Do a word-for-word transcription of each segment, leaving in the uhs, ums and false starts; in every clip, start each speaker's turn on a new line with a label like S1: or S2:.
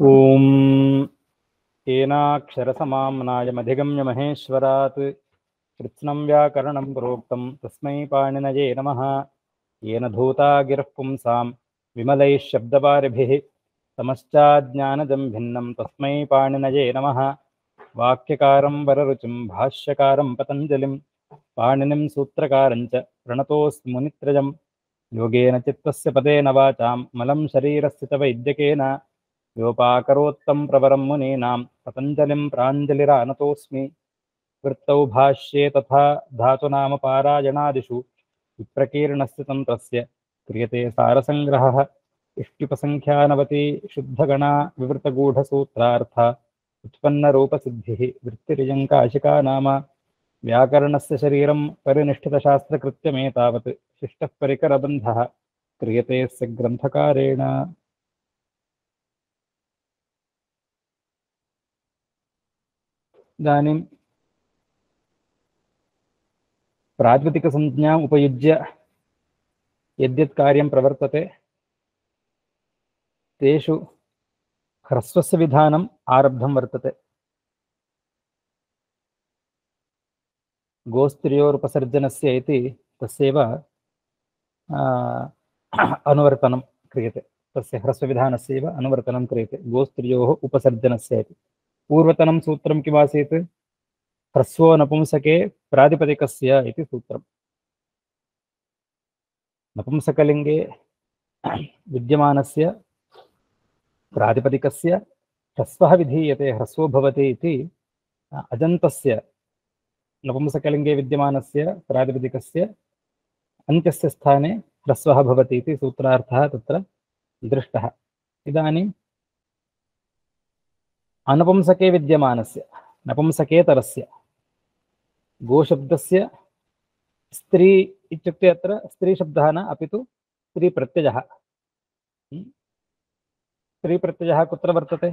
S1: ॐ येनाक्षरसमाम्नायमधिगम्य महेश्वरात् कृत्स्नं व्याकरणं प्रोक्तं तस्मै पाणिनये नमः। येन धूता गिरः पुंसां विमलैः शब्दपारिभिः तमश्चाज्ञानजं भिन्नं तस्मै पाणिनये नमः। वाक्यकारं वररुचिं भाष्यकारं पतञ्जलिं पाणिनिं सूत्रकारं च प्रणतोऽस्मि मुनित्रयम्। योगेन चित्तस्य पदेन वाचां मलं शरीरस्य च वैद्यकेन योपाकरोत्तं प्रवरं मुनीनां पतञ्जलिं प्राञ्जलिरानतोऽस्मि। वृत्तौ भाष्ये तथा धातुनामपारायणादिषु विप्रकीर्णस्य तन्त्रस्य क्रियते सारसङ्ग्रहः। इष्टिपसङ्ख्यानवति शुद्धगणा विवृतगूढसूत्रार्थ उत्पन्नरूपसिद्धिः वृत्तिरियङ्काशिका नाम। व्याकरणस्य शरीरं परिनिष्ठितशास्त्रकृत्यमेतावत् शिष्टः परिकरबन्धः क्रियते स्य ग्रन्थकारेण। इदानीं प्रातिपदिकसंज्ञाम् उपयुज्य यद्यत् कार्यं प्रवर्तते तेषु ह्रस्वस्य विधानम् आरब्धं वर्तते। गोस्त्रियोरुपसर्जनस्य इति तस्यैव अनुवर्तनं क्रियते। तस्य ह्रस्वविधानस्यैव अनुवर्तनं क्रियते गोस्त्रियोः उपसर्जनस्य इति। पूर्वतनं सूत्रं किमासीत्? ह्रस्वो नपुंसके प्रातिपदिकस्य इति सूत्रम्। नपुंसकलिङ्गे विद्यमानस्य प्रातिपदिकस्य ह्रस्वः विधीयते, ह्रस्वो भवति इति अजन्तस्य नपुंसकलिङ्गे विद्यमानस्य प्रातिपदिकस्य अन्त्यस्य स्थाने ह्रस्वः भवति इति सूत्रार्थः तत्र दृष्टः। इदानीम् अनपुंसके विद्यमानस्य नपुंसकेतरस्य गोशब्दस्य स्त्री इत्युक्ते अत्र स्त्रीशब्दः न अपितु स्त्रीप्रत्ययः। स्त्रीप्रत्ययः कुत्र वर्तते?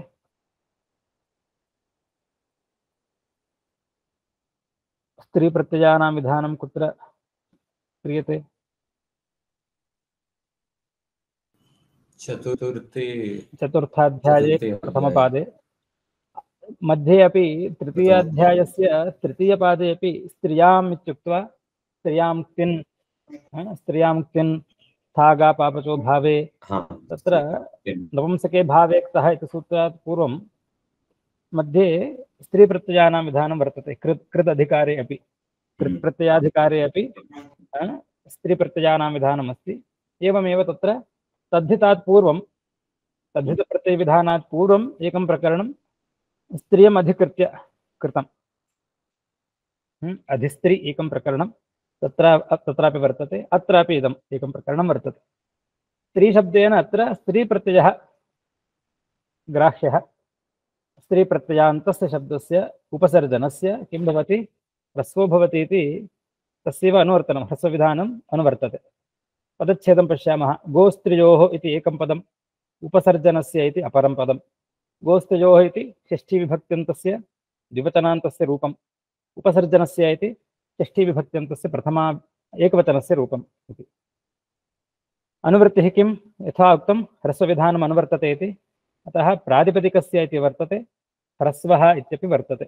S1: स्त्रीप्रत्ययानां विधानं कुत्र क्रियते?
S2: चतुर्थे
S1: चतुर्थाध्याये प्रथमपादे, मध्ये अपि तृतीयाध्यायस्य तृतीयपादे अपि स्त्रियाम् इत्युक्त्वा स्त्रियां तिन् स्त्रियां तिन् थागा पापचो भावे तत्र नपुंसके भावे क्तः इति सूत्रात् पूर्वं मध्ये स्त्रीप्रत्ययानां विधानं वर्तते। कृत् कृत् अधिकारे अपि कृत् प्रत्ययाधिकारे अपि स्त्रीप्रत्ययानां विधानम् अस्ति। एवमेव तत्र तद्धितात् पूर्वं तद्धितप्रत्ययविधानात् पूर्वम् एकं प्रकरणं स्त्रियम् अधिकृत्य कृतम्। अधिस्त्री एकं प्रकरणं तत्र तत्रापि वर्तते, अत्रापि इदम् एकं प्रकरणं वर्तते। स्त्रीशब्देन अत्र स्त्रीप्रत्ययः ग्राह्यः। स्त्रीप्रत्ययान्तस्य शब्दस्य उपसर्जनस्य किं भवति? ह्रस्वो भवति इति तस्यैव अनुवर्तनं, ह्रस्वविधानम् अनुवर्तते। पदच्छेदं पश्यामः। गोस्त्रियोः इति एकं पदम्, उपसर्जनस्य इति अपरं पदम्। गोस्त्रियोः इति षष्ठीविभक्त्यन्तस्य द्विवचनान्तस्य रूपम्, उपसर्जनस्य इति षष्ठीविभक्त्यन्तस्य प्रथमा एकवचनस्य रूपम् इति। अनुवृत्तिः किं? यथा उक्तं ह्रस्वविधानम् अनुवर्तते इति, अतः प्रातिपदिकस्य इति वर्तते, ह्रस्वः इत्यपि वर्तते।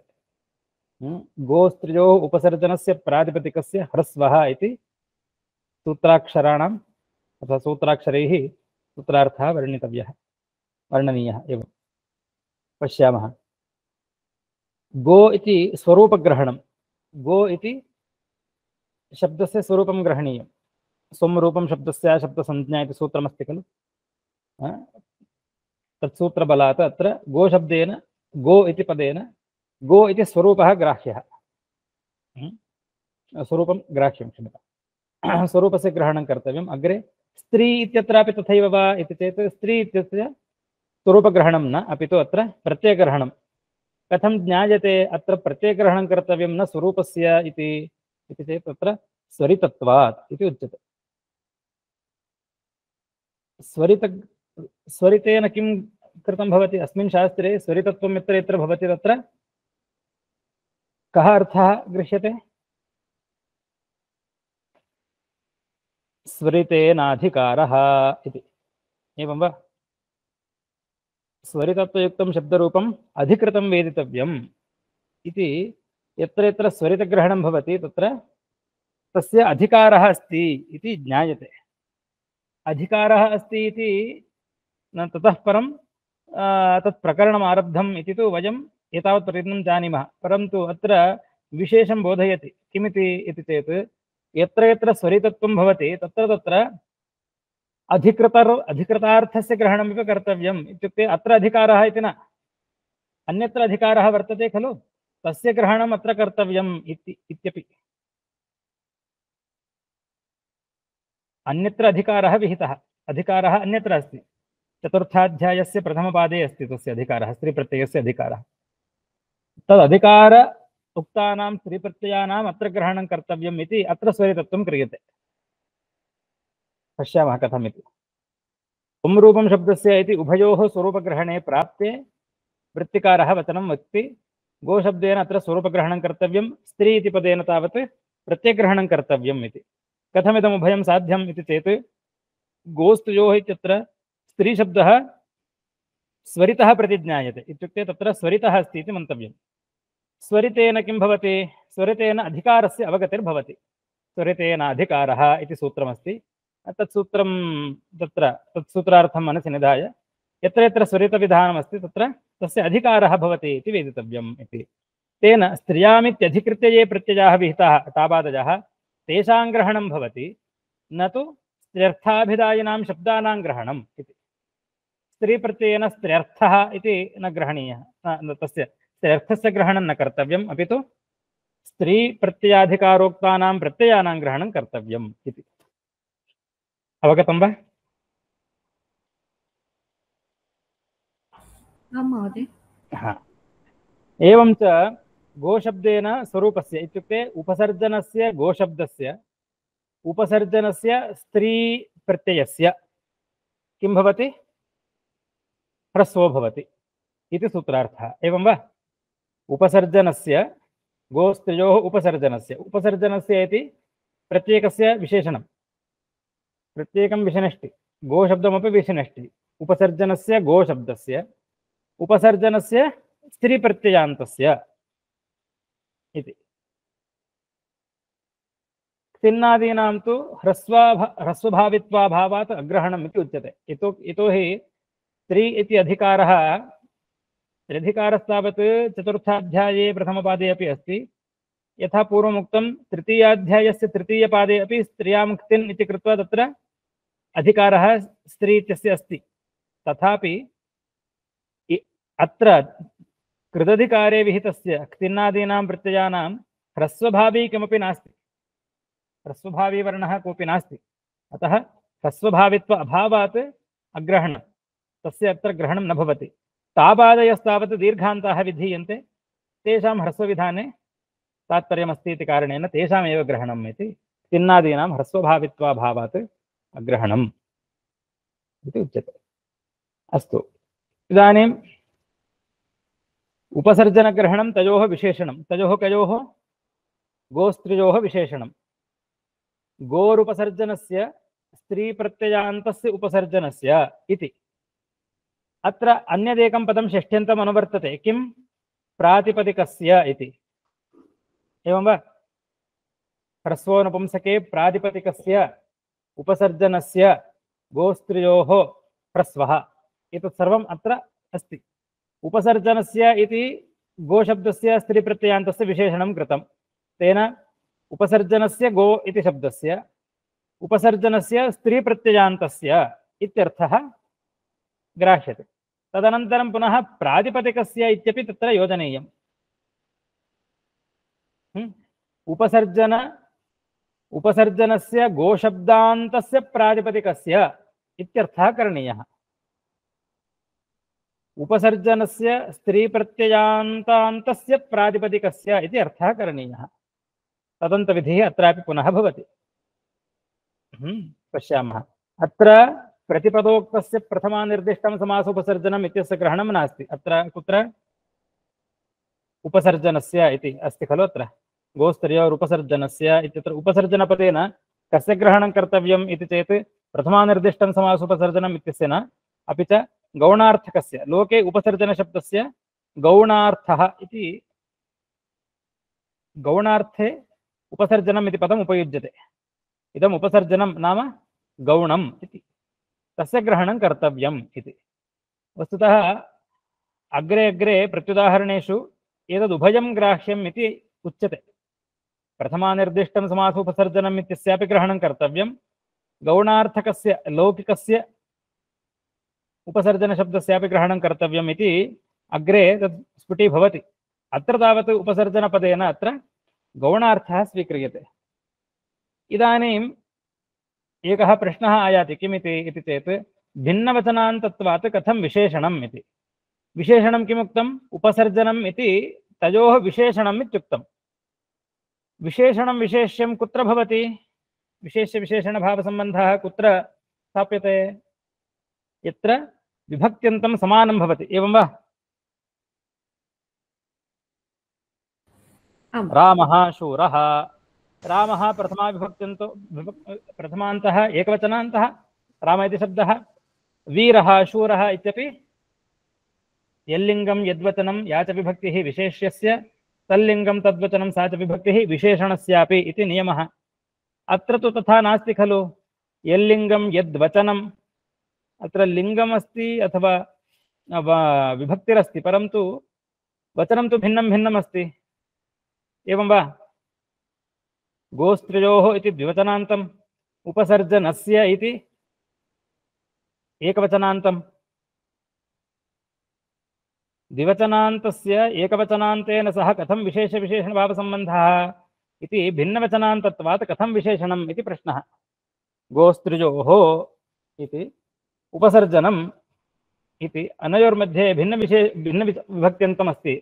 S1: गोस्त्रियोः उपसर्जनस्य प्रातिपदिकस्य ह्रस्वः इति सूत्राक्षराणाम् अथवा सूत्राक्षरैः सूत्रार्थः वर्णितव्यः, वर्णनीयः एवं पश्यामः। गो इति स्वरूपग्रहणं। गो इति शब्दस्य स्वरूपं ग्रहणीयं। स्वं रूपं शब्दस्य शब्दसंज्ञा इति सूत्रमस्ति खलु। तत्सूत्रबलात् अत्र गोशब्देन गो इति पदेन गो इति स्वरूपः ग्राह्यः। स्वरूपं ग्राह्यं क्षम्यतां, स्वरूपस्य ग्रहणं कर्तव्यम्। अग्रे स्त्री इत्यत्रापि तथैव वा इति चेत् स्त्री इत्यस्य स्वरूपग्रहणं न, अपितु अत्र प्रत्ययग्रहणं। कथं ज्ञायते अत्र प्रत्ययग्रहणं कर्तव्यं न स्वरूपस्य इति इति चेत् तत्र स्वरितत्वात् इति उच्यते। स्वरित स्वरितेन किं कृतं भवति? अस्मिन् शास्त्रे स्वरितत्वं यत्र यत्र भवति तत्र कः अर्थः गृह्यते? स्वरितेनाधिकारः इति, एवं वा? स्वरितत्वयुक्तं शब्दरूपम् अधिकृतं वेदितव्यम् इति यत्र यत्र स्वरितग्रहणं भवति तत्र तस्य अधिकारः अस्ति इति ज्ञायते। अधिकारः अस्ति इति न ततः परं तत् प्रकरणम् आरब्धम् इति तु वयम् एतावत् पर्यन्तं जानीमः। परन्तु अत्र विशेषं बोधयति किमिति इति चेत् यत्र यत्र स्वरितत्वं भवति तत्र तत्र अधिकृतर अधिकृतार्थस्य ग्रहणमिव कर्तव्यम् इत्युक्ते अत्र अधिकारः इति न, अन्यत्र अधिकारः वर्तते खलु, तस्य ग्रहणम् अत्र कर्तव्यम् इति इत्यपि। अन्यत्र अधिकारः विहितः, अधिकारः अन्यत्र अस्ति। चतुर्थाध्यायस्य प्रथमपादे अस्ति तस्य अधिकारः, स्त्रीप्रत्ययस्य अधिकारः। तदधिकार उक्तानां स्त्रीप्रत्ययानाम् अत्र ग्रहणं कर्तव्यम् इति अत्र स्वरितत्वं क्रियते। पश्यामः कथमिति। पुंरूपं शब्दस्य इति उभयोः स्वरूपग्रहणे प्राप्ते वृत्तिकारः वचनं वक्ति। गोशब्देन अत्र स्वरूपग्रहणं कर्तव्यं, स्त्री इति पदेन तावत् प्रत्ययग्रहणं कर्तव्यम् इति। कथमिदम् उभयं साध्यम् इति चेत् गोस्तुयोः इत्यत्र स्त्रीशब्दः स्वरितः प्रतिज्ञायते, इत्युक्ते तत्र स्वरितः अस्ति इति मन्तव्यम्। स्वरितेन किं भवति? स्वरितेन अधिकारस्य अवगतिर्भवति। स्वरितेन अधिकारः इति सूत्रमस्ति। तत्सूत्रं तत्र तत्सूत्रार्थं मनसि निधाय यत्र यत्र स्वरितविधानमस्ति तत्र तस्य अधिकारः भवति इति वेदितव्यम् इति। तेन स्त्रियामित्यधिकृत्य ये प्रत्ययाः विहिताः ताबादजः तेषां ग्रहणं भवति, न तु स्त्र्यर्थाभिधायिनां शब्दानां ग्रहणम् इति। स्त्रीप्रत्ययेन स्त्र्यर्थः इति न ग्रहणीयः, तस्य स्त्र्यर्थस्य ग्रहणं न कर्तव्यम्, अपि तु स्त्रीप्रत्ययाधिकारोक्तानां प्रत्ययानां ग्रहणं कर्तव्यम् इति। अवगतं वा?
S2: आं महोदय।
S1: हा, एवं च गोशब्देन स्वरूपस्य इत्युक्ते उपसर्जनस्य गोशब्दस्य उपसर्जनस्य स्त्री प्रत्ययस्य किं भवति? ह्रस्वो भवति इति सूत्रार्थः। एवं वा? उपसर्जनस्य गोस्त्रियोः उपसर्जनस्य उपसर्जनस्य इति प्रत्येकस्य विशेषणं, प्रत्येकं विशनष्टि, गोशब्दमपि विशनष्टि। उपसर्जनस्य गोशब्दस्य उपसर्जनस्य स्त्रीप्रत्ययान्तस्य इति। क्तिन्नादीनां तु ह्रस्वाभा ह्रस्वभावित्वाभावात् अग्रहणम् इति उच्यते। इतो यतोहि स्त्री इति अधिकारः त्र्यधिकारस्तावत् चतुर्थाध्याये प्रथमपादे अपि अस्ति। यथा पूर्वमुक्तं तृतीयाध्यायस्य तृतीयपादे अपि स्त्रियां क्तिन् इति कृत्वा तत्र अधिकारः स्त्री इत्यस्य अस्ति। तथापि अत्र कृदधिकारे विहितस्य क्तिन्नादीनां प्रत्ययानां ह्रस्वभावी किमपि नास्ति, ह्रस्वभावी वर्णः कोऽपि नास्ति। अतः ह्रस्वभावित्व अभावात् अग्रहणं, तस्य अत्र ग्रहणं न भवति। ताबादयस्तावत् दीर्घान्ताः विधीयन्ते, तेषां ह्रस्वविधाने तात्पर्यमस्ति इति कारणेन तेषामेव ग्रहणम् इति। क्तिन्नादीनां ह्रस्वभावित्वाभावात् अग्रहणम् इति उच्यते। अस्तु, इदानीम् उपसर्जनग्रहणं तयोः विशेषणं, तयोः कयोः? गोस्त्रियोः विशेषणं। गोरुपसर्जनस्य स्त्रीप्रत्ययान्तस्य उपसर्जनस्य इति। अत्र अन्यदेकं पदं षष्ठ्यन्तम् अनुवर्तते, किं? प्रातिपदिकस्य इति। एवं वा? ह्रस्वोनपुंसके प्रातिपदिकस्य उपसर्जनस्य गोस्त्रियोः ह्रस्वः, एतत् सर्वम् अत्र अस्ति। उपसर्जनस्य इति गोशब्दस्य स्त्रीप्रत्ययान्तस्य विशेषणं कृतं। तेन उपसर्जनस्य गो इति शब्दस्य उपसर्जनस्य स्त्रीप्रत्ययान्तस्य इत्यर्थः ग्राह्यते। तदनन्तरं पुनः प्रातिपदिकस्य इत्यपि तत्र योजनीयम्। उपसर्जन उपसर्जनस्य गोशब्दान्तस्य प्रातिपदिकस्य इत्यर्थः करणीयः। उपसर्जनस्य स्त्रीप्रत्ययान्तान्तस्य प्रातिपदिकस्य इति अर्थः करणीयः। तदन्तविधिः अत्रापि पुनः भवति। पश्यामः, अत्र प्रतिपदोक्तस्य प्रथमानिर्दिष्टं समासोपसर्जनम् इत्यस्य ग्रहणं नास्ति। अत्र कुत्र? उपसर्जनस्य इति अस्ति खलु। अत्र गोस्त्रियोरुपसर्जनस्य इत्यत्र उपसर्जनपदेन कस्य ग्रहणं कर्तव्यम् इति चेत् प्रथमानिर्दिष्टं समासोपसर्जनम् इत्यस्य न, अपि च गौणार्थकस्य लोके उपसर्जनशब्दस्य गौणार्थः इति गौणार्थे उपसर्जनम् इति पदम् उपयुज्यते। इदम् उपसर्जनं नाम गौणम् इति, तस्य ग्रहणं कर्तव्यम् इति। वस्तुतः अग्रे अग्रे प्रत्युदाहरणेषु एतदुभयं ग्राह्यम् इति उच्यते। प्रथमानिर्दिष्टं समासोपसर्जनम् इत्यस्यापि ग्रहणं कर्तव्यं, गौणार्थकस्य लौकिकस्य उपसर्जनशब्दस्यापि ग्रहणं कर्तव्यम् इति अग्रे तत् स्फुटीभवति। अत्र तावत् उपसर्जनपदेन अत्र गौणार्थः स्वीक्रियते। इदानीम् एकः प्रश्नः आयाति, किमिति इति चेत् भिन्नवचनान्तत्वात् कथं विशेषणम् इति। विशेषणं किमुक्तम्? उपसर्जनम् इति तयोः विशेषणम् इत्युक्तम्। विशेषणं विशेष्यं कुत्र भवति? विशेष्यविशेषणभावसम्बन्धः कुत्र स्थाप्यते? यत्र विभक्त्यन्तं समानं भवति, एवं वा? रामः शूरः, रामः प्रथमा विभक्त्यन्तो प्रथमान्तः एकवचनान्तः राम इति शब्दः, वीरः शूरः इत्यपि यल्लिङ्गं यद्वचनं या च विभक्तिः विशेष्यस्य तल्लिङ्गं तद्वचनं सा च विभक्तिः विशेषणस्यापि इति नियमः। अत्र तु तथा नास्ति खलु। यल्लिङ्गं यद्वचनम्, अत्र लिङ्गमस्ति अथवा विभक्तिरस्ति, परन्तु वचनं तु भिन्नं भिन्नम् अस्ति, एवं वा? गोस्त्रियोः इति द्विवचनान्तम्, उपसर्जनस्य इति एकवचनान्तम्। द्विवचनान्तस्य एकवचनान्तेन सह कथं विशेषविशेषणभावसम्बन्धः इति भिन्नवचनान्तत्वात् कथं विशेषणम् इति प्रश्नः। गोस्त्रियोः इति उपसर्जनम् इति अनयोर्मध्ये भिन्नविशे भिन्नविभक्त्यन्तमस्ति।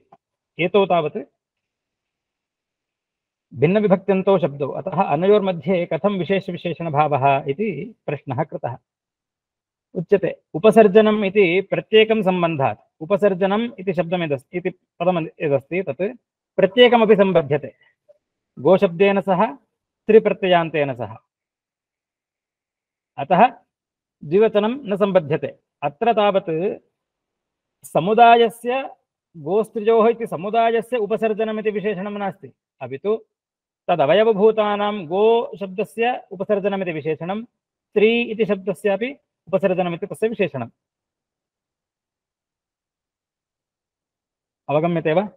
S1: एतौ तावत् भिन्नविभक्त्यन्तो शब्दौ, अतः अनयोर्मध्ये कथं विशेषविशेषणभावः इति प्रश्नः कृतः। उच्यते उपसर्जनम् इति प्रत्येकं सम्बन्धात्, उपसर्जनम् इति शब्दमिदस्ति इति पदम् यदस्ति तत् प्रत्येकमपि सम्बध्यते, गोशब्देन सह स्त्रीप्रत्ययान्तेन सह, अतः द्विवचनं न सम्बध्यते। अत्र तावत् समुदायस्य गोस्त्रियोः इति समुदायस्य उपसर्जनमिति विशेषणं नास्ति, अपि तु तदवयवभूतानां गो शब्दस्य उपसर्जनमिति विशेषणं, स्त्री इति शब्दस्यापि उपसर्जनमिति तस्य विशेषणम्। अवगम्यते वा?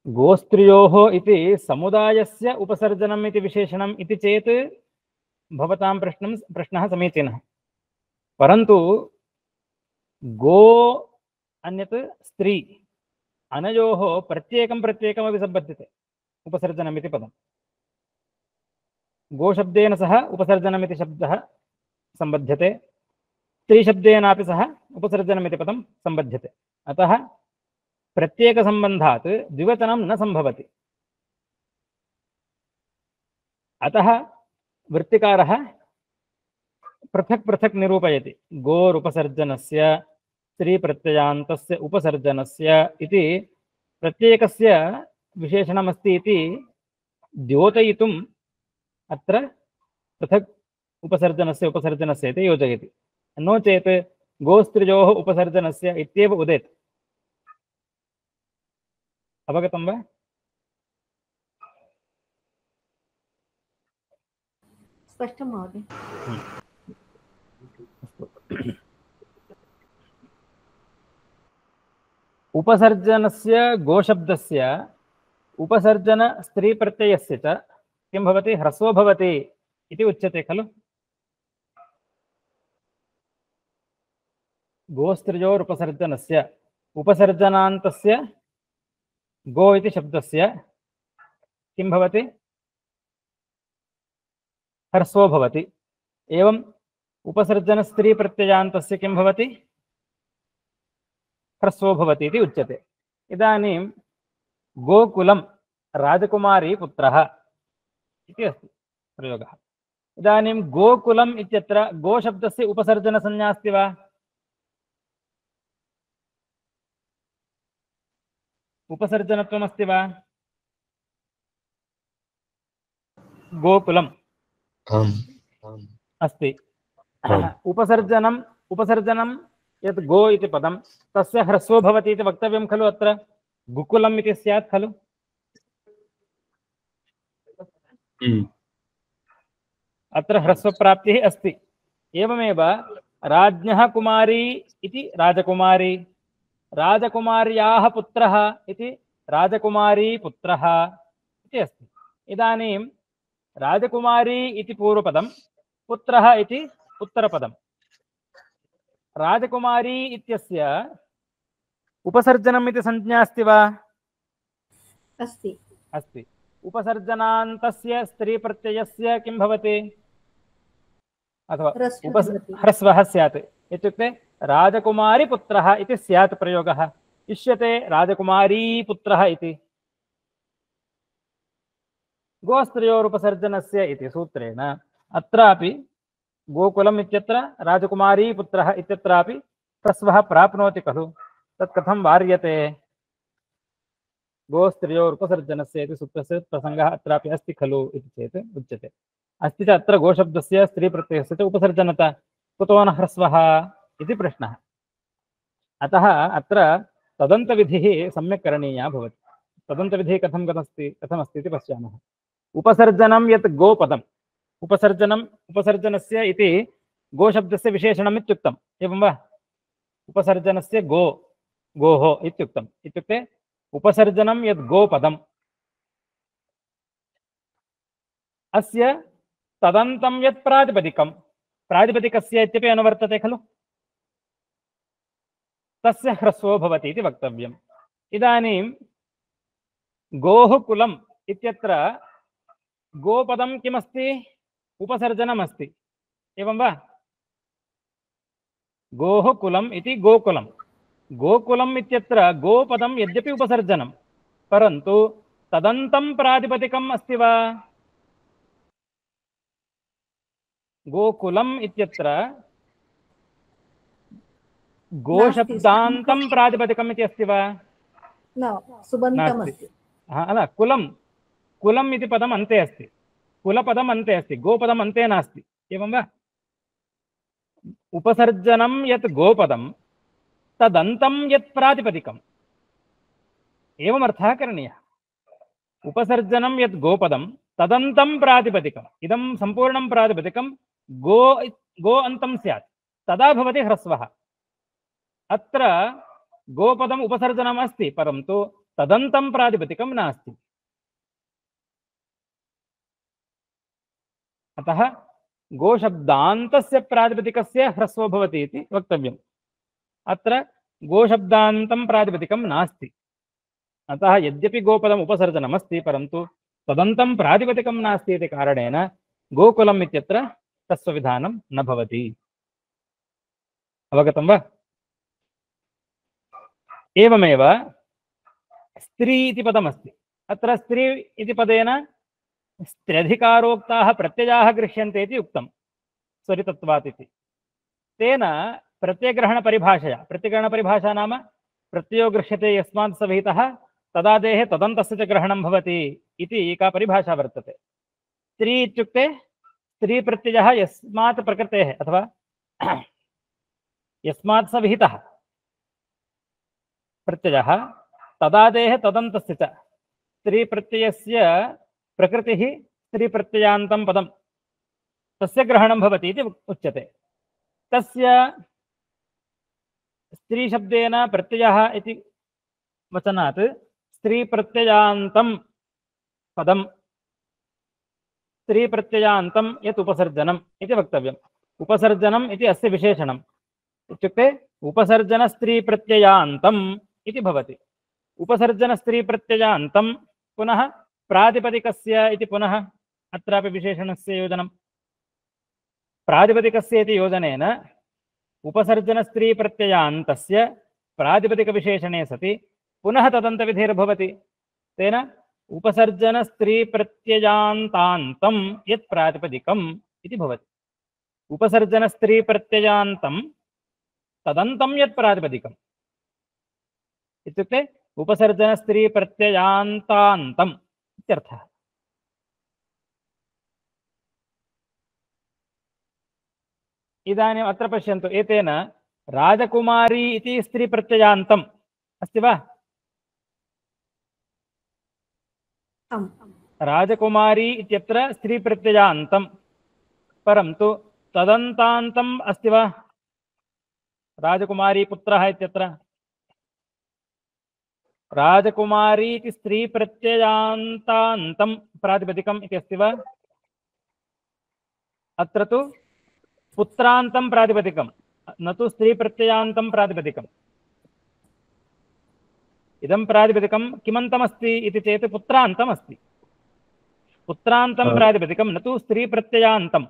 S1: गोस्त्रियोः इति समुदायस्य उपसर्जनम् इति विशेषणम् इति चेत् भवतां प्रश्नं प्रश्नः समीचीनः, परन्तु गो अन्यत् स्त्री अनयोः प्रत्येकं प्रत्येकमपि सम्बध्यते उपसर्जनमिति पदम्। गोशब्देन सह उपसर्जनमिति शब्दः सम्बध्यते, स्त्रीशब्देनापि सह उपसर्जनमिति पदं सम्बध्यते, अतः प्रत्येकसम्बन्धात् द्विवचनं न सम्भवति। अतः वृत्तिकारः पृथक् पृथक् निरूपयति। गोरुपसर्जनस्य स्त्रीप्रत्ययान्तस्य उपसर्जनस्य इति प्रत्येकस्य विशेषणमस्ति इति द्योतयितुम् अत्र पृथक् उपसर्जनस्य उपसर्जनस्य इति योजयति। नो चेत् गोस्त्रियोः उपसर्जनस्य इत्येव उदेत्। अवगतं वा?
S2: स्पष्टं महोदय।
S1: उपसर्जनस्य गोशब्दस्य उपसर्जन स्त्रीप्रत्ययस्य च किं भवति? ह्रस्वो भवति इति उच्यते खलु। गोस्त्रियोरुपसर्जनस्य उपसर्जनान्तस्य गो इति शब्दस्य किं भवति? ह्रस्वो भवति। एवम् उपसर्जनस्त्रीप्रत्ययान्तस्य किं भवति? ह्रस्वो भवति इति उच्यते। इदानीं गोकुलं राजकुमारी पुत्रः इति अस्ति प्रयोगः। इदानीं गोकुलम् इत्यत्र गोशब्दस्य उपसर्जनसंज्ञा अस्ति वा? उपसर्जनत्वमस्ति वा? गोकुलम् अस्ति। उपसर्जनम् उपसर्जनं यत् गो इति पदं तस्य ह्रस्वो भवति इति वक्तव्यं खलु अत्र गुकुलम् इति स्यात् खलु अत्र ह्रस्वप्राप्तिः अस्ति एवमेव राज्ञः कुमारी इति राजकुमारी राजकुमार्याः पुत्रः इति राजकुमारी पुत्रः इति अस्ति इदानीं राजकुमारी इति पूर्वपदं पुत्रः इति उत्तरपदं राजकुमारी इत्यस्य उपसर्जनम् इति संज्ञा अस्ति वा
S2: अस्ति
S1: अस्ति उपसर्जनान्तस्य स्त्रीप्रत्ययस्य किं भवति अथवा
S2: ह्रस्वः
S1: उपस
S2: भवति।
S1: ह्रस्वः स्यात् इत्युक्ते राजकुमारी पुत्रः इति स्यात् प्रयोगः इष्यते राजकुमारी पुत्रः इति गोस्त्रियोरुपसर्जनस्य इति सूत्रेण अत्रापि गोकुलम् इत्यत्र राजकुमारी पुत्रः इत्यत्रापि ह्रस्वः प्राप्नोति खलु तत् कथं वार्यते गोस्त्रियोरुपसर्जनस्य इति सूत्रस्य प्रसङ्गः अत्रापि अस्ति खलु इति चेत् उच्यते अस्ति च अत्र गोशब्दस्य स्त्रीप्रत्ययस्य च उपसर्जनता कुतो न ह्रस्वः इति प्रश्नः अतः अत्र तदन्तविधिः सम्यक् करणीया भवति तदन्तविधिः कथं कथमस्ति कथमस्ति इति पश्यामः उपसर्जनं यत् गोपदम् उपसर्जनम् उपसर्जनस्य इति गोशब्दस्य विशेषणम् इत्युक्तम् एवं वा उपसर्जनस्य गो गोः इत्युक्तम् इत्युक्ते उपसर्जनं यत् गोपदम् अस्य तदन्तं यत् प्रातिपदिकं प्रातिपदिकस्य इत्यपि अनुवर्तते खलु तस्य ह्रस्वो भवति इति वक्तव्यम् इदानीं गोः कुलम् इत्यत्र गोपदं किमस्ति उपसर्जनमस्ति एवं वा गोः कुलम् इति गोकुलं गोकुलम् इत्यत्र गोपदं यद्यपि उपसर्जनं परन्तु तदन्तं प्रातिपदिकम् अस्ति वा गोकुलम् इत्यत्र गोशब्दान्तं प्रातिपदिकम् इति अस्ति वा
S2: न सुबन्तम् अस्ति
S1: अल कुलं कुलम् इति पदम् अन्ते अस्ति कुलपदम् अन्ते अस्ति गोपदम् अन्ते नास्ति एवं वा उपसर्जनं यत् गोपदं तदन्तं यत् प्रातिपदिकम् एवम् अर्थः करणीयः उपसर्जनं यत् गोपदं तदन्तं प्रातिपदिकम् इदं सम्पूर्णं प्रातिपदिकं गो गो अन्तं स्यात् तदा भवति ह्रस्वः अत्र गोपदम् उपसर्जनम् अस्ति परन्तु तदन्तं प्रातिपदिकं नास्ति अतः गोशब्दान्तस्य प्रातिपदिकस्य ह्रस्वो भवति इति वक्तव्यम् अत्र गोशब्दान्तं प्रातिपदिकं नास्ति अतः यद्यपि गोपदम् उपसर्जनमस्ति परन्तु तदन्तं प्रातिपदिकं नास्ति इति कारणेन गोकुलम् इत्यत्र ह्रस्वविधानं न भवति अवगतं वा एवमेव स्त्री इति पदमस्ति अत्र स्त्री इति पदेन स्त्र्यधिकारोक्ताः प्रत्ययाः गृह्यन्ते इति उक्तं स्वरितत्वात् इति तेन प्रत्ययग्रहणपरिभाषया प्रत्ययग्रहणपरिभाषा नाम प्रत्ययो गृह्यते यस्मात् स विहितः तदादेः तदन्तस्य च ग्रहणं भवति इति एका परिभाषा वर्तते स्त्री इत्युक्ते स्त्रीप्रत्ययः यस्मात् प्रकृतेः अथवा यस्मात् स विहितः प्रत्ययः तदादेः तदन्तस्य च स्त्रीप्रत्ययस्य प्रकृतिः स्त्रीप्रत्ययान्तं पदं तस्य ग्रहणं भवति इति उच्यते तस्य स्त्रीशब्देन प्रत्ययः इति वचनात् स्त्रीप्रत्ययान्तं पदं स्त्रीप्रत्ययान्तं यत् उपसर्जनम् इति वक्तव्यम् उपसर्जनम् इति अस्य विशेषणम् इत्युक्ते उपसर्जनस्त्रीप्रत्ययान्तम् इति भवति उपसर्जनस्त्रीप्रत्ययान्तं पुनः प्रातिपदिकस्य इति पुनः अत्रापि विशेषणस्य योजनं प्रातिपदिकस्य इति योजनेन उपसर्जनस्त्रीप्रत्ययान्तस्य प्रातिपदिकविशेषणे सति पुनः तदन्तविधिर्भवति तेन उपसर्जनस्त्रीप्रत्ययान्तान्तं यत् प्रातिपदिकम् इति भवति उपसर्जनस्त्रीप्रत्ययान्तं तदन्तं यत् प्रातिपदिकम् इत्युक्ते उपसर्जनस्त्रीप्रत्ययान्तान्तम् इत्यर्थः इदानीम् अत्र पश्यन्तु, एतेन राजकुमारी इति स्त्रीप्रत्ययान्तम् अस्ति वा?
S2: आम्
S1: राजकुमारी इत्यत्र स्त्रीप्रत्ययान्तं, परन्तु तदन्तान्तम् अस्ति वा? राजकुमारी पुत्रः इत्यत्र राजकुमारी इति स्त्रीप्रत्ययान्तान्तं प्रातिपदिकम् इति अस्ति वा? अत्र तु पुत्रान्तं प्रातिपदिकं, न तु स्त्रीप्रत्ययान्तं प्रातिपदिकम्। इदं प्रातिपदिकं किमन्तमस्ति इति चेत् पुत्रान्तम् अस्ति। पुत्रान्तं प्रातिपदिकं, न तु स्त्रीप्रत्ययान्तम्।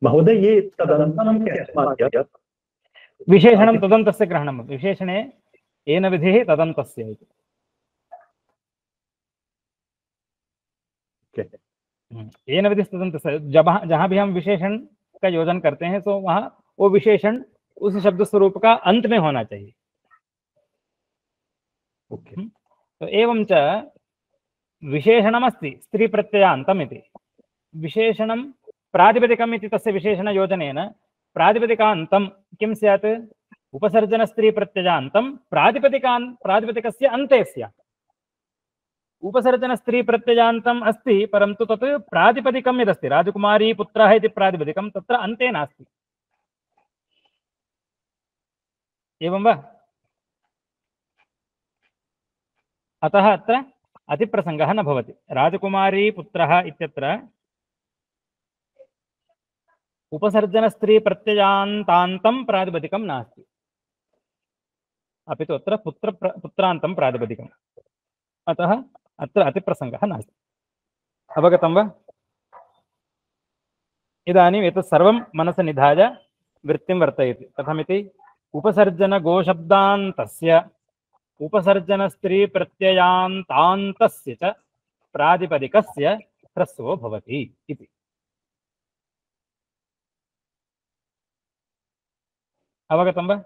S3: महोदय, ये तदन्तम्
S1: विशेषणं तदन्तस्य ग्रहणं, विशेषणे येन विधिः तदन्तस्य इति। येन विधि तदन्तस्य, जब जहाँ भी हम विशेषण का योजन करते हैं तो वहाँ वो विशेषण उस शब्द स्वरूप का अंत में होना चाहिए।
S3: ओके।
S1: तो एवं च विशेषणमस्ति स्त्री प्रत्ययान्तम् इति, विशेषणं प्रातिपदिकम् इति तस्य विशेषणयोजनेन प्रातिपदिकान्तं किं स्यात्? उपसर्जनस्त्री प्रत्ययान्तं प्रातिपदिकान् प्रातिपदिकस्य अन्ते स्यात्। उपसर्जनस्त्री प्रत्ययान्तम् अस्ति, परन्तु तत् प्रातिपदिकं यदस्ति राजकुमारी पुत्रः इति प्रातिपदिकं तत्र अन्ते नास्ति। एवं वा? अतः अत्र अतिप्रसङ्गः न भवति। राजकुमारी पुत्रः इत्यत्र उपसर्जनस्त्री प्रत्ययान्तान्तं प्रातिपदिकं नास्ति, अपि तु अत्र पुत्र पुत्रान्तं प्रातिपदिकम्। अतः अत्र अतिप्रसङ्गः नास्ति। अवगतं वा? इदानीम् एतत् सर्वं मनसि निधाय वृत्तिं वर्तयति। कथमिति? उपसर्जनगोशब्दान्तस्य उपसर्जनस्त्रीप्रत्ययान्तान्तस्य च प्रातिपदिकस्य ह्रस्वो भवति इति। अवगतं वा?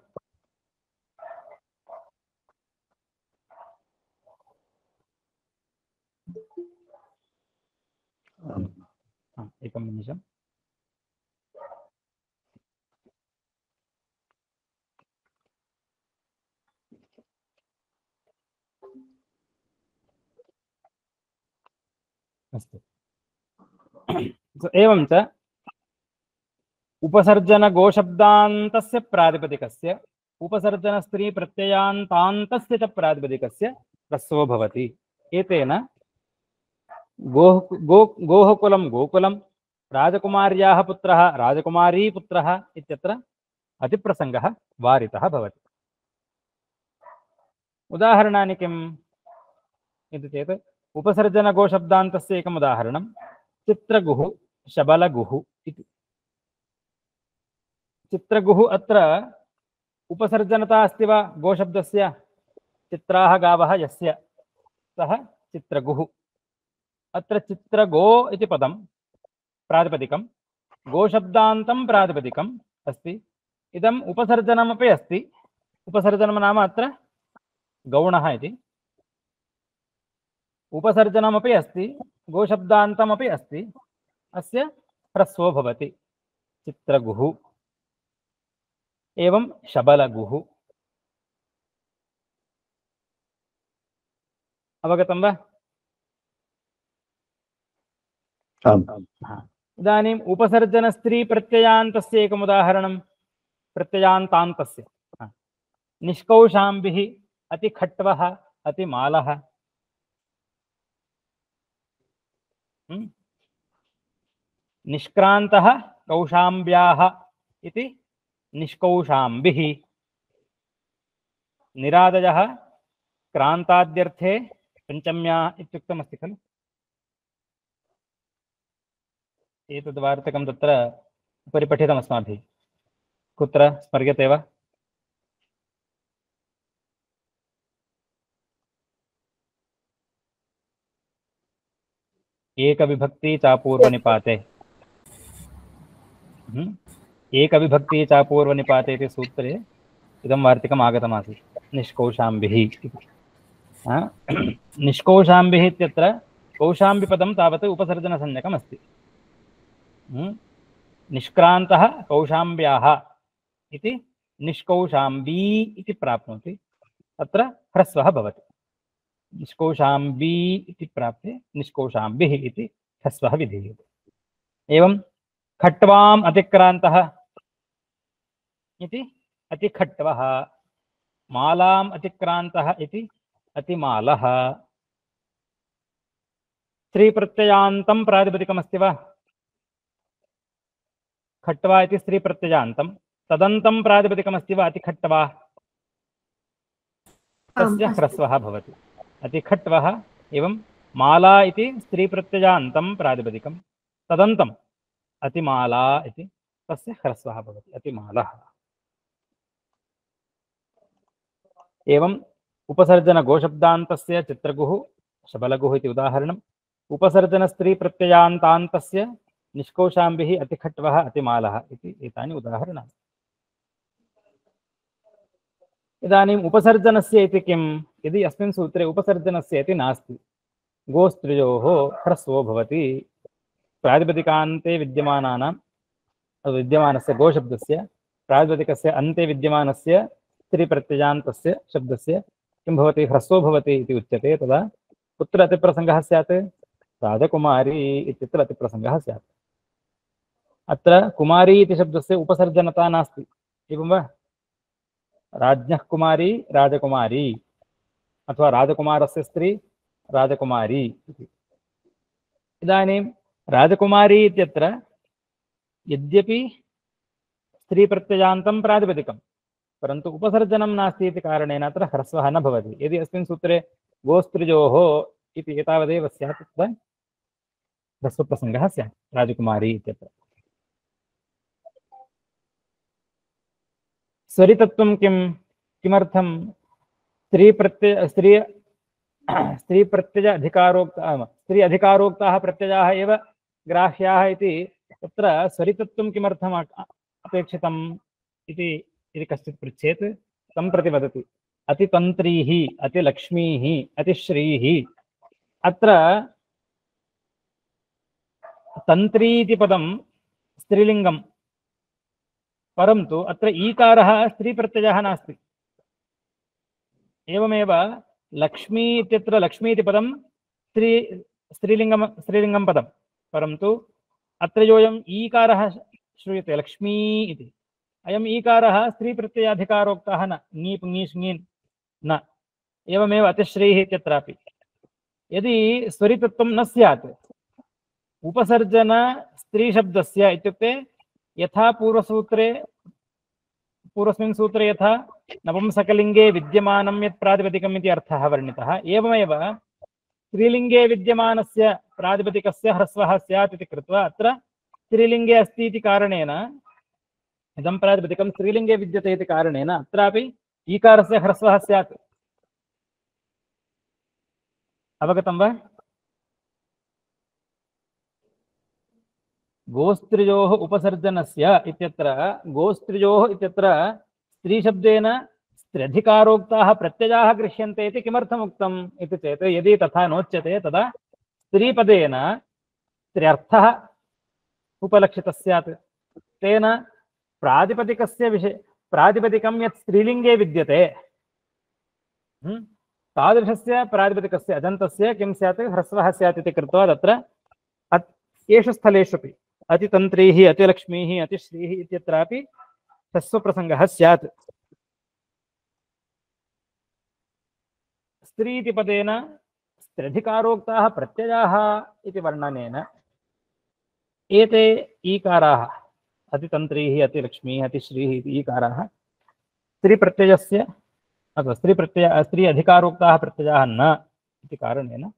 S1: एकं निमिषम्। अस्तु। एवं च उपसर्जनगोशब्दान्तस्य प्रातिपदिकस्य उपसर्जनस्त्रीप्रत्ययान्तान्तस्य च प्रातिपदिकस्य ह्रस्वो भवति। एतेन गोः गो गोः कुलं गोकुलं, राजकुमार्याः पुत्रः राजकुमारी पुत्रः इत्यत्र अतिप्रसङ्गः वारितः भवति। उदाहरणानि किम् इति चेत् उपसर्जनगोशब्दान्तस्य एकम् उदाहरणं चित्रगुः शबलगुः इति। चित्रगुः अत्र उपसर्जनता अस्ति वा गोशब्दस्य? चित्राः गावः यस्य सः चित्रगुः। अत्र चित्रगो इति पदं प्रातिपदिकं, गोशब्दान्तं प्रातिपदिकम् अस्ति। इदम् उपसर्जनमपि अस्ति। उपसर्जनं नाम अत्र गौणः इति। उपसर्जनमपि अस्ति, गोशब्दान्तमपि अस्ति। अस्य ह्रस्वो भवति चित्रगुः। एवं शबलगुः। अवगतं वा? इदानीम् उपसर्जनस्त्री प्रत्ययान्तस्य एकम् उदाहरणं प्रत्ययान्तान्तस्य निष्कौशाम्बिः अतिखट्वः अतिमालः। निष्क्रान्तः कौशाम्ब्याः इति निष्कौशाम्बिः। निरादयः क्रान्ताद्यर्थे पञ्चम्या इत्युक्तमस्ति खलु। एतद् वार्तकं तत्र उपरि पठितमस्माभिः। कुत्र स्मर्यते वा? एकविभक्ति चापूर्वनिपाते। एकविभक्ति चापूर्वनिपाते इति सूत्रे इदं वार्तिकम् आगतमासीत् निष्कौशाम्बिः इति। निष्कौशाम्बिः इत्यत्र कौशाम्बिपदं तावत् उपसर्जनसंज्ञकम् अस्ति। निष्क्रान्तः कौशाम्ब्याः इति निष्कौशाम्बी इति प्राप्नोति, तत्र ह्रस्वः भवति। निष्कौशाम्बी इति प्राप्ते निष्कौशाम्बिः इति ह्रस्वः विधीयते। एवं खट्वाम् अतिक्रान्तः इति अतिखट्वः, मालाम् अतिक्रान्तः इति अतिमालः। स्त्रीप्रत्ययान्तं प्रातिपदिकमस्ति वा? खट्वा इति स्त्रीप्रत्ययान्तं, तदन्तं प्रातिपदिकमस्ति वा? अतिखट्वा, तस्य ह्रस्वः भवति अतिखट्वः। एवं माला इति स्त्रीप्रत्ययान्तं प्रातिपदिकं, तदन्तम् अतिमाला इति, तस्य ह्रस्वः भवति अतिमालः। एवं उपसर्जनगोशब्दान्तस्य चित्रगुः शबलगुः इति उदाहरणम्। उपसर्जनस्त्रीप्रत्ययान्तान्तस्य निष्कौशाम्बिः अतिखट्वः अतिमालः इति एतानि उदाहरणानि। इदानीम् उपसर्जनस्य इति किं? यदि अस्मिन् सूत्रे उपसर्जनस्य इति नास्ति, गोस्त्रियोः ह्रस्वो भवति, प्रातिपदिकान्ते विद्यमानानां विद्यमानस्य गोशब्दस्य प्रातिपदिकस्य अन्ते विद्यमानस्य स्त्रीप्रत्ययान्तस्य शब्दस्य किं भवति? ह्रस्वो भवति इति उच्यते। तदा कुत्र अतिप्रसङ्गः स्यात्? राजकुमारी इत्यत्र अतिप्रसङ्गः स्यात्। अत्र कुमारी इति शब्दस्य उपसर्जनता नास्ति, एवं वा? राज्ञः कुमारी राजकुमारी, अथवा राजकुमारस्य स्त्री राजकुमारी इति। इदानीं राजकुमारी इत्यत्र यद्यपि स्त्रीप्रत्ययान्तं प्रातिपदिकं, परन्तु उपसर्जनं नास्ति इति कारणेन अत्र ह्रस्वः न भवति। यदि अस्मिन् सूत्रे गोस्त्रियोः इति एतावदेव स्यात् तदा ह्रस्वप्रसङ्गः स्यात् राजकुमारी इत्यत्र। स्वरितत्वं किं? किमर्थं? स्त्रीप्रत्यय स्त्री स्त्रीप्रत्यय अधिकारोक्त स्त्री अधिकारोक्ताः प्रत्ययाः एव ग्राह्याः इति तत्र स्वरितत्वं किमर्थम् अपेक्षितम् इति यदि कश्चित् पृच्छेत्, तं प्रति वदति अतितन्त्रीः, अतिलक्ष्मीः, अतिश्रीः। अत्र तन्त्री इति पदं स्त्रीलिङ्गं, परन्तु अत्र ईकारः स्त्रीप्रत्ययः नास्ति। एवमेव लक्ष्मी इत्यत्र लक्ष्मी इति पदं स्त्री स्त्रीलिङ्गं स्त्रीलिङ्गं पदं, परन्तु अत्र योऽयम् ईकारः श्रूयते लक्ष्मी इति, अयम् ईकारः स्त्रीप्रत्ययाधिकारोक्तः न, ङीप् ङीष् ङीन् न। एवमेव अतिश्रीः इत्यत्रापि यदि स्वरितत्वं न स्यात्, उपसर्जन स्त्रीशब्दस्य इत्युक्ते यथा पूर्वसूत्रे पूर्वस्मिन् सूत्रे यथा नपुंसकलिङ्गे विद्यमानं यत् प्रातिपदिकम् इति अर्थः वर्णितः, एवमेव स्त्रीलिङ्गे विद्यमानस्य प्रातिपदिकस्य ह्रस्वः स्यात् इति कृत्वा अत्र स्त्रीलिङ्गे अस्ति इति कारणेन, इदं प्रातिपदिकं स्त्रीलिङ्गे विद्यते इति कारणेन अत्रापि ईकारस्य ह्रस्वः स्यात्। अवगतं वा? गोस्त्रियोः उपसर्जनस्य इत्यत्र गोस्त्रियोः इत्यत्र स्त्रीशब्देन स्त्र्यधिकारोक्ताः प्रत्ययाः गृह्यन्ते इति किमर्थम् उक्तम् इति चेत्, यदि तथा नोच्यते तदा स्त्रीपदेन स्त्र्यर्थः उपलक्षितः स्यात्। तेन प्रातिपदिकस्य विषये प्रातिपदिकं यत् स्त्रीलिङ्गे विद्यते तादृशस्य प्रातिपदिकस्य अजन्तस्य किं स्यात्? ह्रस्वः स्यात् इति कृत्वा तत्र येषु स्थलेष्वपि अतितन्त्रीः, अतिलक्ष्मीः, अतिश्रीः इत्यत्रापि ह्रस्वप्रसङ्गः स्यात्। स्त्री इति पदेन स्त्र्यधिकारोक्ताः प्रत्ययाः इति वर्णनेन एते ईकाराः अतितन्त्रीः, अतिलक्ष्मीः, अतिश्रीः इति ईकाराः स्त्रीप्रत्ययस्य अथवा स्त्रीप्रत्यय स्त्री अधिकारोक्ताः प्रत्ययाः न इति कारणेन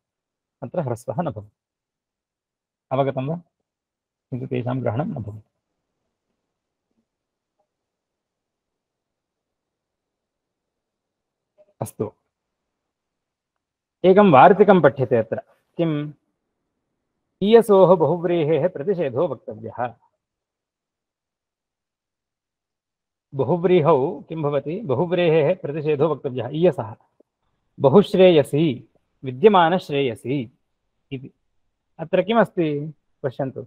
S1: अत्र ह्रस्वः न भवति। अवगतं वा? किन्तु तेषां ग्रहणं न भवति। अस्तु, एकं वार्तिकं पठ्यते अत्र। किम्? ईयसोः बहुव्रीहेः प्रतिषेधो वक्तव्यः। बहुव्रीहौ किं भवति? बहुव्रीहेः प्रतिषेधो वक्तव्यः। ईयसः बहुश्रेयसी विद्यमानश्रेयसी इति। अत्र किमस्ति पश्यन्तु।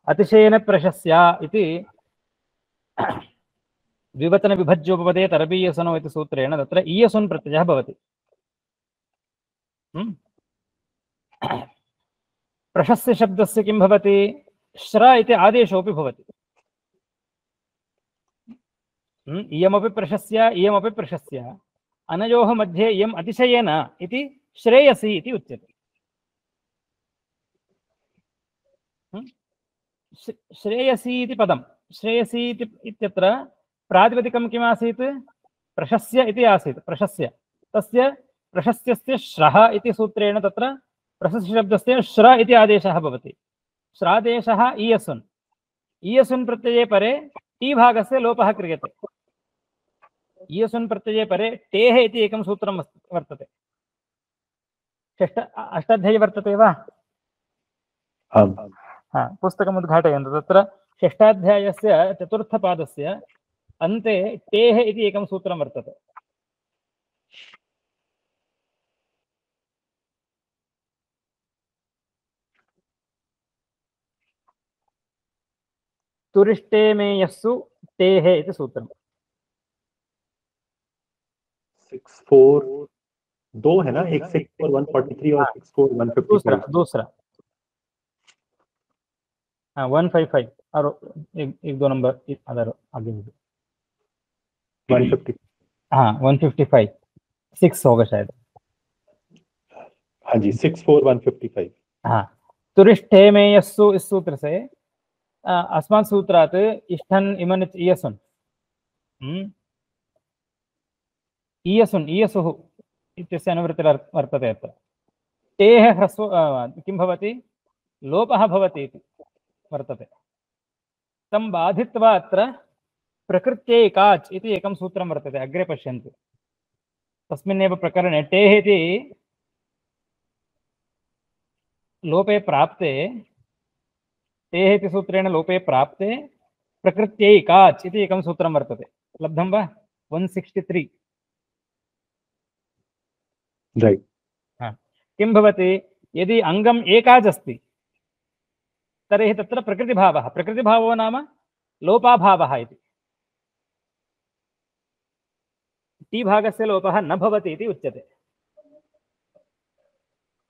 S1: अतिशयेन प्रशस्या इति द्विवचन विभज्योपपदे तरबीयसनो इति सूत्रेण तत्र ईयसुन् प्रत्ययः भवति। प्रशस्य शब्दस्य किं भवति? श्र इति आदेशोऽपि भवति। इयमपि प्रशस्य इयमपि प्रशस्य अनयोः मध्ये इयम् अतिशयेन इति श्रेयसी इति उच्यते। श्रेयसी इति पदं श्रेयसी इत्यत्र प्रातिपदिकं किम् आसीत्? प्रशस्य इति आसीत्। प्रशस्य तस्य प्रशस्यस्य श्रः इति सूत्रेण तत्र प्रशस्य शब्दस्य श्र इति आदेशः भवति। श्रादेशः ईयसुन्। ईयसुन् प्रत्यये परे टी भागस्य लोपः क्रियते। ईयसुन् प्रत्यये परे टेः इति एकं सूत्रं वर्तते। षष्ठ अष्टाध्यायी वर्तते वा? हा, पुस्तकम् उद्घाटयन्तु। तत्र षष्ठाध्यायस्य चतुर्थपादस्य अन्ते टेः इति एकं सूत्रं वर्तते। तुरिष्टे मे यस्सु टेः इति सूत्रम्।
S3: सिक्स फोर दो है ना, एक सिक्स फोर वन फोर्टी थ्री और सिक्स फोर वन फिफ्टी
S1: दूसरा दूसरा हाँ वन फाइव फाइव और एक, एक दो नंबर अदर आगे
S3: वन फिफ्टी
S1: हाँ वन फिफ्टी फाइव सिक्स होगा शायद।
S3: हाँ जी, six four one fifty five.
S1: हाँ, तुरिष्ठे में यस्सु इस सूत्र से अस्मात् सूत्रात् इष्ठन् इमन् इयसुन् ईयसुन् ईयसुः इत्यस्य अनुवृत्तिर् वर्तते। अत्र टेः ह्रस्व किं भवति? लोपः भवति इति वर्तते। तं बाधित्वा अत्र प्रकृत्यै काच् इति एकं सूत्रं वर्तते। अग्रे पश्यन्तु, तस्मिन्नेव प्रकरणे टेः इति लोपे प्राप्ते टेः इति सूत्रेण लोपे प्राप्ते प्रकृत्यै काच् इति एकं सूत्रं वर्तते। लब्धं वा? वन सिक्स्टी थ्री।
S3: राइट।
S1: हाँ, किं भवति? यदि अङ्गम् एकाच् अस्ति तर्हि तत्र प्रकृतिभावः प्रकृतिभावो नाम लोपाभावः इति। टी भागस्य लोपः न भवति इति उच्यते।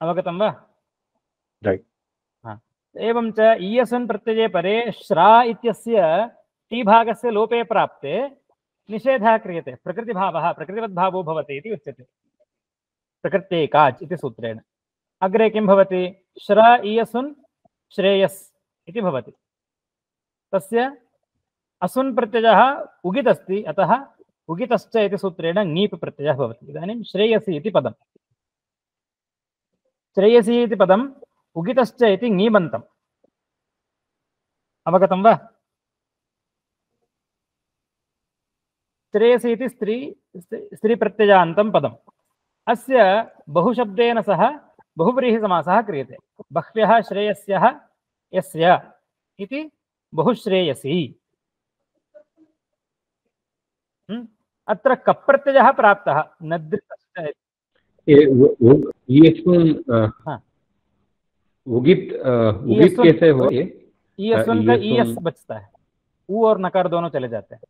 S1: अवगतं वा?
S3: राइट।
S1: हाँ, एवं च ईयसुन् प्रत्यये परे श्रा इत्यस्य टी भागस्य लोपे प्राप्ते निषेधः क्रियते। प्रकृतिभावः प्रकृतिवद्भावो भवति इति उच्यते प्रकृत्यै काच् इति सूत्रेण। अग्रे किं भवति? श्र ईयसुन् श्रेयस् इति भवति। तस्य असुन् प्रत्ययः उगित् अस्ति, अतः उगितश्च इति सूत्रेण ङीप् प्रत्ययः भवति। इदानीं श्रेयसी इति पदं श्रेयसी इति पदम् उगितश्च इति ङीबन्तम्। अवगतं वा? श्रेयसी इति स्त्री स्त्रीप्रत्ययान्तं पदम्। अस्य बहुशब्देन सह बहुव्रीहिसमासः क्रियते। बह्व्यः श्रेयस्यः यस्य इति बहुश्रेयसी। अत्र कप् प्रत्ययः प्राप्तः नद्रितश्च।
S4: उगित उगित कैसे हो? ये
S1: ईयसुन का ईयस बचता है, ऊ और नकार दोनों चले जाते हैं।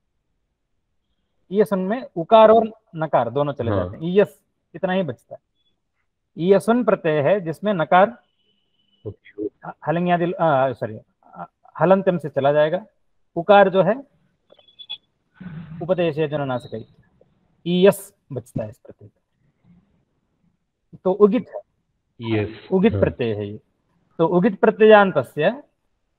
S1: ईयसुन में उकार और नकार दोनों चले जाते हैं, ईयस इतना ही बचता है। ईयसुन प्रत्यय है जिसमें नकार हलंग्यादि सॉरी हलंत्यम से चला जाएगा। उकार जो है उपदेश जननासिक ईयस बचता है इस प्रत्यय। तो उगित है,
S4: yes.
S1: उगित प्रत्यय है ये। तो उगित प्रत्ययान्तस्य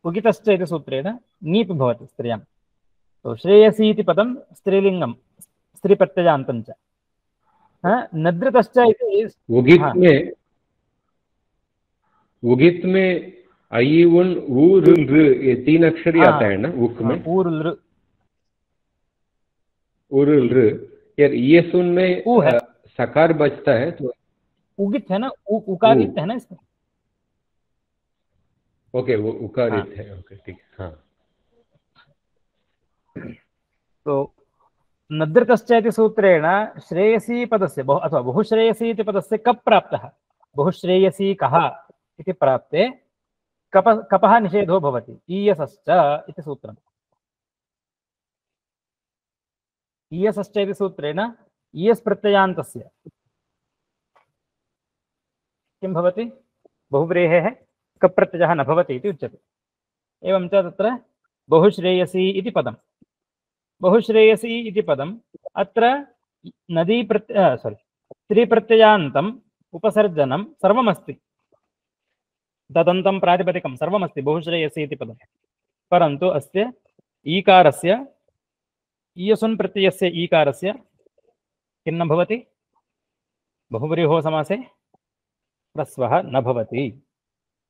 S1: उगितश्च इति सूत्रेण ङीप् भवति स्त्रियां। तो श्रेयसी इति पदं स्त्रीलिंगं स्त्रीप्रत्ययान्तं च। नद्रितश्च इति
S4: उगित में उगित में आई उन उ ऋ ये तीन अक्षर ही आता है ना उक में।
S1: उ ऋ
S4: उ ऋ यार ये सुन में सकार बचता है तो
S1: उगित है ना, उ, उकारित है ना इसमें।
S4: ओके वो उकारित है। ओके ठीक। हाँ,
S1: तो नद्रितश्च इति सूत्रेण श्रेयसी पदस्य बहु अथवा बहुश्रेयसी इति पदस्य कप् प्राप्तः। बहुश्रेयसी कः इति प्राप्ते कप कपः निषेधो भवति ईयसश्च इति सूत्रम्। ईयसश्च इति सूत्रेण ईयस् प्रत्ययान्तस्य किं भवति बहुव्रीहेः कप् प्रत्ययः न भवति इति उच्यते। एवं च तत्र बहुश्रेयसी इति पदं बहुश्रेयसी इति पदम् अत्र नदी प्रत्य सोरि स्त्रीप्रत्ययान्तम् उपसर्जनं सर्वमस्ति, तदन्तं प्रातिपदिकं सर्वमस्ति बहुश्रेयसी इति पदं, परन्तु अस्य ईकारस्य ईयसुन् प्रत्ययस्य ईकारस्य किं न भवति बहुव्रीहो समासे ह्रस्वः न भवति।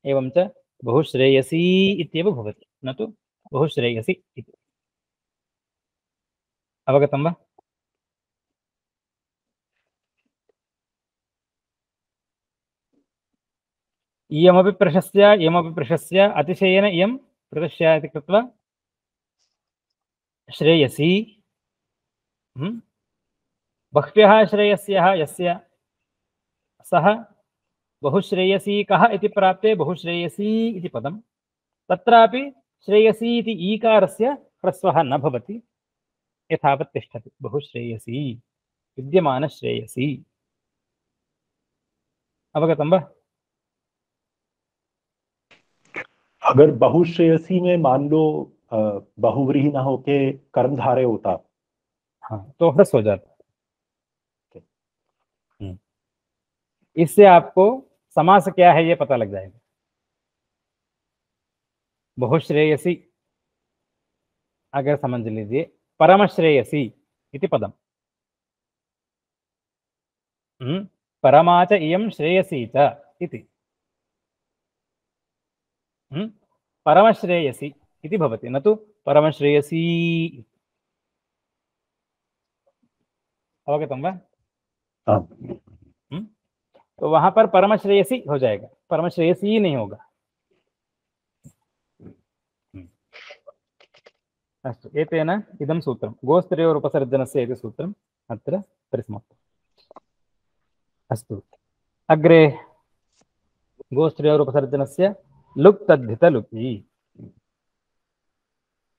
S1: एवं च बहुश्रेयसी इत्येव भवति न तु बहुश्रेयसी इति। अवगतं वा? इयमपि प्रशस्य इयमपि प्रशस्य अतिशयेन इयं प्रदर्श्य इति कृत्वा श्रेयसी बह्व्यः श्रेयस्यः यस्य सः बहुश्रेयसी कः इति प्राप्ते बहुश्रेयसी इति पदं, तत्रापि श्रेयसी इति ईकारस्य ह्रस्वः न भवति, यथावत् तिष्ठति बहुश्रेयसी विद्यमानश्रेयसी। अवगतं वा?
S3: अगर बहुश्रेयसी में मान लो बहुव्रीहि ना होके कर्मधारय होता,
S1: हाँ तो ह्रस्व हो जाता। इससे आपको समास क्या है ये पता लग जाएगा। बहुश्रेयसी अगर समझ लीजिए परमश्रेयसी इति पदम परमा च इयं श्रेयसी च इति परमश्रेयसी इति भवति, न तु परमश्रेयसी। अवगतं वा? तो वहां पर परमश्रेयसी हो जाएगा, परमश्रेयसी नहीं होगा। अस्तु, एतेन इदं सूत्रं गोस्त्रेयोरुपसर्जनस्य इति सूत्रम् अत्र परिसमाप्तम्। अस्तु, अग्रे गोस्त्रेयोरुपसर्जनस्य लुक् तद्धितलुकि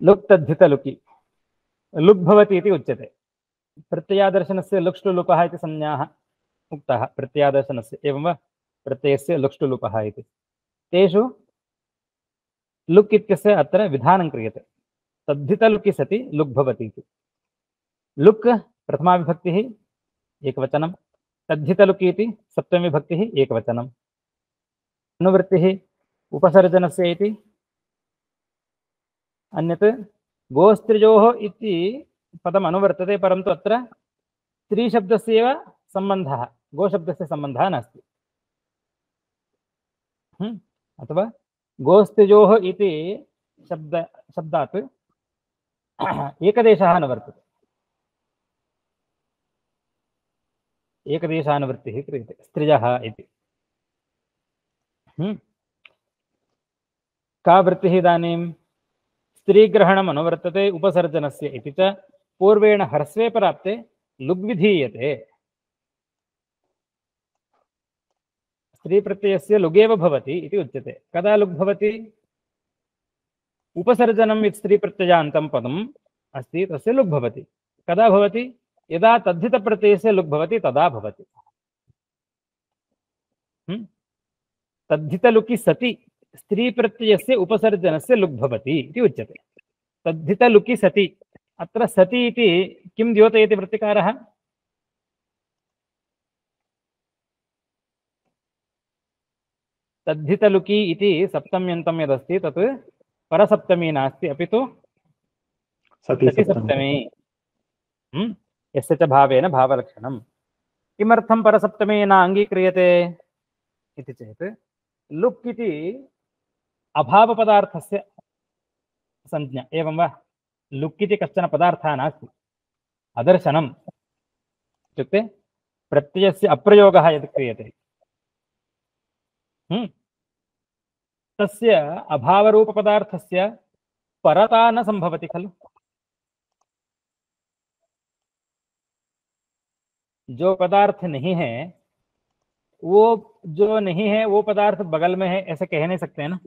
S1: लुक् तद्धितलुकि लुक् भवति इति उच्यते। प्रत्ययादर्शनस्य लुक्ष्लुलुपः इति संज्ञाः उक्तः प्रत्ययादर्शनस्य, एवं वा? प्रत्ययस्य लुक्ष्लुलुपः इति तेषु लुक् इत्यस्य अत्र विधानं क्रियते। तद्धितलुकि सति लुक् भवति इति। लुक् प्रथमा विभक्तिः एकवचनं, तद्धितलुकि इति सप्तमी विभक्तिः एकवचनम्। अनुवृत्तिः उपसर्जनस्य इति अन्यत् गोस्त्रियोः इति पदम् अनुवर्तते, परन्तु अत्र स्त्रीशब्दस्य एव सम्बन्धः, गोशब्दस्य सम्बन्धः नास्ति। अथवा गोस्त्रियोः इति शब्द शब्दात् एकदेशः न वर्तते, एकदेशानुवृत्तिः क्रियते स्त्रियः इति। का वृत्तिः इदानीं? स्त्रीग्रहणम् अनुवर्तते उपसर्जनस्य इति च पूर्वेण ह्रस्वे प्राप्ते लुग् विधीयते। स्त्रीप्रत्ययस्य लुगेव भवति इति उच्यते। कदा लुग् भवति? उपसर्जनं यत् स्त्रीप्रत्ययान्तं पदम् अस्ति तस्य लुग् भवति। कदा भवति? यदा तद्धितप्रत्ययस्य लुग् भवति तदा भवति। तद्धितलुकि सति स्त्रीप्रत्ययस्य उपसर्जनस्य लुग् भवति इति उच्यते। तद्धितलुकि सति, अत्र सति इति किं द्योतयति वृत्तिकारः? तद्धितलुकि इति सप्तम्यन्तं यदस्ति तत् परसप्तमी नास्ति, अपि तु सतिसप्तमी। यस्य च भावेन भावलक्षणम्। किमर्थं परसप्तमी न अङ्गीक्रियते इति चेत् लुक् इति अभावपदार्थस्य संज्ञा, एवं वा? लुक् इति कश्चन पदार्थः नास्ति, अदर्शनम् इत्युक्ते प्रत्ययस्य अप्रयोगः यत् क्रियते तस्य अभावरूपपदार्थस्य परता न संभवति खलु। जो पदार्थ नहीं है वो जो नहीं है वो पदार्थ बगल में है, ऐसे कह नहीं सकते हैं ना।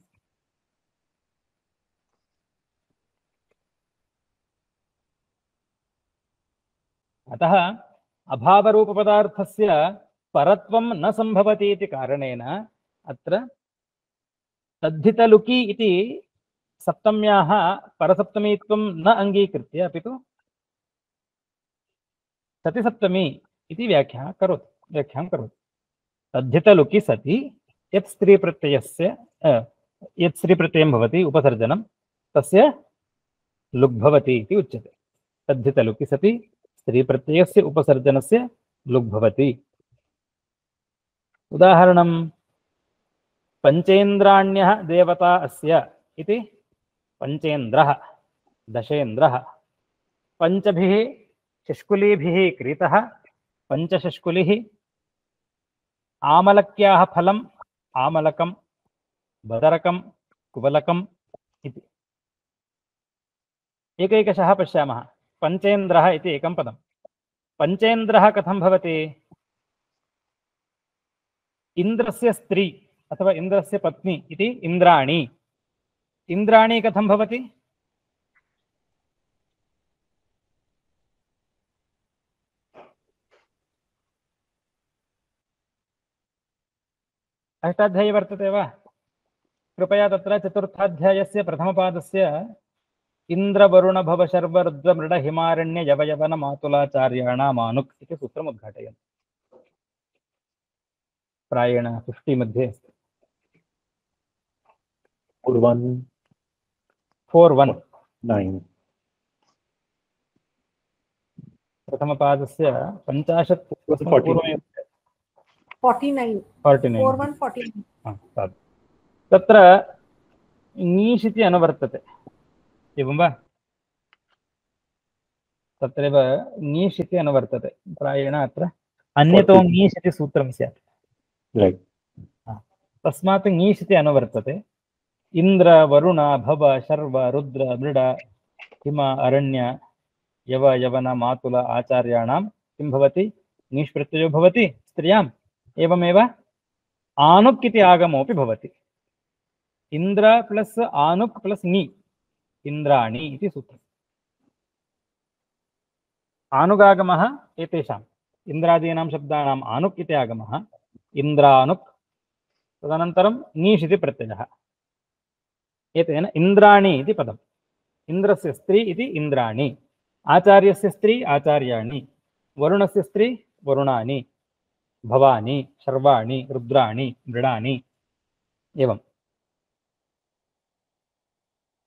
S1: अतः अभावरूपपदार्थस्य परत्वं न सम्भवति इति कारणेन अत्र तद्धितलुकि इति सप्तम्याः परसप्तमीत्वं न अङ्गीकृत्य अपि तु सतिसप्तमी इति व्याख्या करोति व्याख्यां करोति। तद्धितलुकि सति यत् स्त्रीप्रत्ययस्य यत् स्त्रीप्रत्ययं भवति उपसर्जनं तस्य लुग् भवति इति उच्यते। तद्धितलुकि सति स्त्रीप्रत्ययस्य उपसर्जनस्य लुग् भवति। उदाहरणं पञ्चेन्द्राण्यः देवता अस्य इति पञ्चेन्द्रः दशेन्द्रः पञ्चभिः शष्कुलीभिः क्रीतः पञ्चशष्कुलिः आमलक्याः फलम् आमलकं बदरकं कुवलकम् इति एकैकशः पश्यामः। पञ्चेन्द्रः इति एकं पदं। पञ्चेन्द्रः कथं भवति? इन्द्रस्य स्त्री अथवा इन्द्रस्य पत्नी इति इन्द्राणी। इन्द्राणी कथं भवति? अष्टाध्यायी वर्तते वा? कृपया तत्र चतुर्थाध्यायस्य प्रथमपादस्य इन्द्रवरुण भव शर्व रुद्र मृड हिमारण्य यवयवन मातुलाचार्याणामानुक् इति सूत्रम् उद्घाटयन्तु। प्रायेण फिफ्टी मध्ये अस्ति।
S3: Four one
S1: four one
S3: nine
S1: प्रथमपादस्य पञ्चाशत् पूर्वमेव
S2: forty nine
S1: forty nine
S2: four one forty nine
S1: तत्र ङीष् इति अनुवर्तते एवं वा? तत्रैव ङीष् इति अनुवर्तते। प्रायेण अत्र अन्यतो ङीष् इति सूत्रं स्यात्।
S3: राइट।
S1: तस्मात् ङीष् इति अनुवर्तते। इन्द्र वरुण भव शर्व रुद्र मृड हिम अरण्य यव यवन मातुल आचार्याणां किं भवति? ङीष् प्रत्ययो भवति स्त्रियाम्। एवमेव आनुक् इति आगमोऽपि भवति। इन्द्र प्लस् आनुक् प्लस् ङि इन्द्राणि इति सूत्रम्। आनुगागमः एतेषाम् इन्द्रादीनां शब्दानाम् आनुक् इति आगमः इन्द्रानुक्। तदनन्तरं ङीष् इति प्रत्ययः। एतेन इन्द्राणि इति पदम्। इन्द्रस्य स्त्री इति इन्द्राणि, आचार्यस्य स्त्री आचार्याणि, वरुणस्य स्त्री वरुणानि, भवानि शर्वाणि रुद्राणि मृडानि एवम्।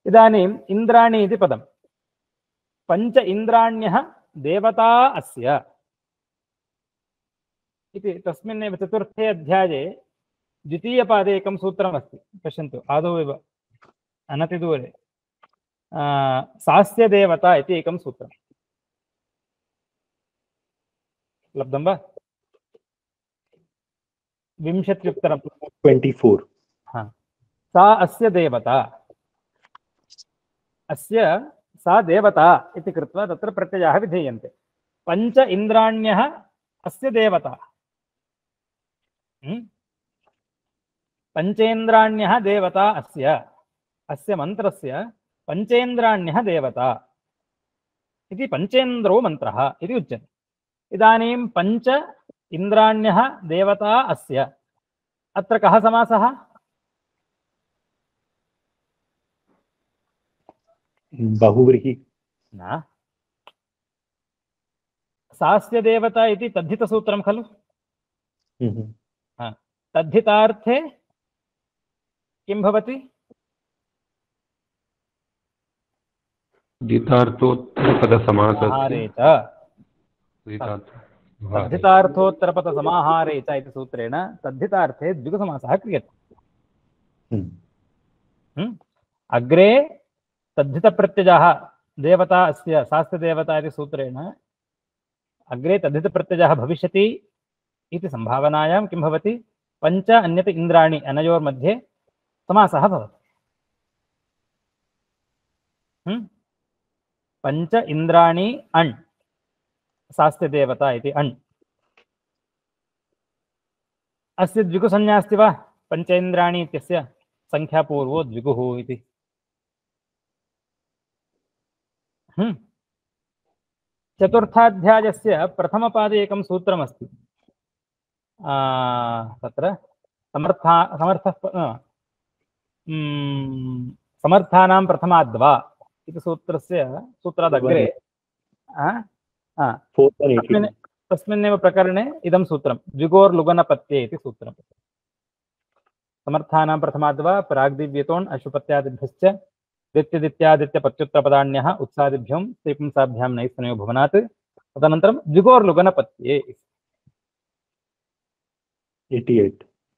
S1: इदानीम् इन्द्राणि इति पदं। पञ्च इन्द्राण्यः देवता अस्य इति तस्मिन्नेव चतुर्थे अध्याये द्वितीयपादे एकं सूत्रमस्ति। पश्यन्तु आदौ एव अनतिदूरे सास्य देवता इति एकं सूत्रं लब्धं वा? विंशत्युत्तरं
S3: ट्वेंटी फोर।
S1: हाँ, सा अस्य देवता अस्य सा देवता इति कृत्वा तत्र प्रत्ययाः विधीयन्ते। पञ्च इन्द्राण्यः अस्य देवता। पञ्चेन्द्राण्यः देवता अस्य अस्य मन्त्रस्य पञ्चेन्द्राण्यः देवता इति पञ्चेन्द्रो मन्त्रः इति उच्यते। इदानीं पञ्च इन्द्राण्यः देवता अस्य अत्र कः समासः?
S3: बहुव्रीहि
S1: न, सास्य देवता इति तद्धितसूत्रं खलु। हाँ, तद्धितार्थे किं भवति?
S4: दितार्थोत्तरपदसमासस्य
S1: तद्धितार्थोत्तरपदसमाहारे च इति सूत्रेण तद्धितार्थे द्विगुसमासः क्रियते। अग्रे तद्धितप्रत्ययः देवता अस्य सास्य देवता इति सूत्रेण अग्रे तद्धितप्रत्ययः भविष्यति इति संभावनायां किं भवति? पञ्च अन्यत इन्द्राणि अनयोर्मध्ये समासः भवति। पञ्च इन्द्राणि अण् सास्य देवता इति अण्। अस्य द्विगुसंज्ञा अस्ति वा? पञ्चेन्द्राणि इत्यस्य संख्यापूर्वो द्विगुः इति। चतुर्थाध्यायस्य प्रथमपादे एकं सूत्रमस्ति। तत्र समर्था समर्थः समर्थानां प्रथमाद्वा इति सूत्रस्य सूत्रादग्रे तस्मिन् तस्मिन्नेव प्रकरणे इदं सूत्रं द्विगोर्लुगनपत्ये इति सूत्रम्। समर्थानां प्रथमाद्वा प्राग्दिव्यतोन् अशुपत्यादिभ्यश्च दित्यदित्यादित्यपत्युत्तरपदान्यः उत्सादिभ्यं स्त्रीपुंसाभ्यां नैस्तनयो भुवनात् तदनन्तरं द्विगोर्लुगनपत्ये।
S3: अठासी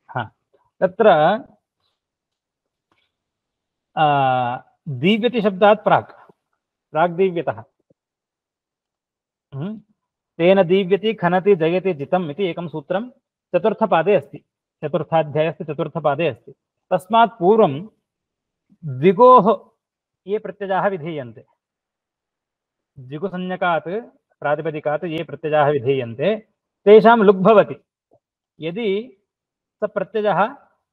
S1: हा तत्र दीव्यति शब्दात् प्राक् प्राग्दीव्यतः तेन दीव्यति खनति जयति जितम् इति एकं सूत्रं चतुर्थपादे अस्ति। चतुर्थाध्यायस्य चतुर्थपादे अस्ति। तस्मात् पूर्वं द्विगोः ये प्रत्ययाः विधीयन्ते, द्विगुसंज्ञकात् प्रातिपदिकात् ये प्रत्ययाः विधीयन्ते तेषां लुग् भवति। यदि स प्रत्ययः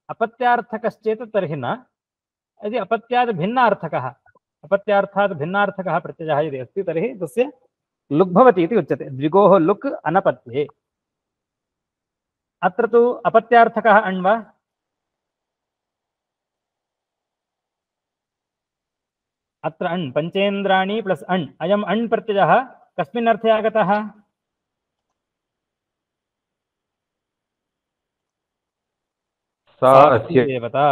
S1: अपत्यार्थकश्चेत् तर्हि न, यदि अपत्यात् भिन्नार्थकः अपत्यार्थात् भिन्नार्थकः प्रत्ययः यदि अस्ति तर्हि तस्य लुग् भवति इति उच्यते। द्विगोः लुक् अनपत्ये। अत्र तु अपत्यार्थकः अण् वा? अत्र अण् पञ्चेन्द्राणि प्लस् अण्, अयम् अण् प्रत्ययः कस्मिन् अर्थे आगतः?
S4: सा अस्य
S1: देवता।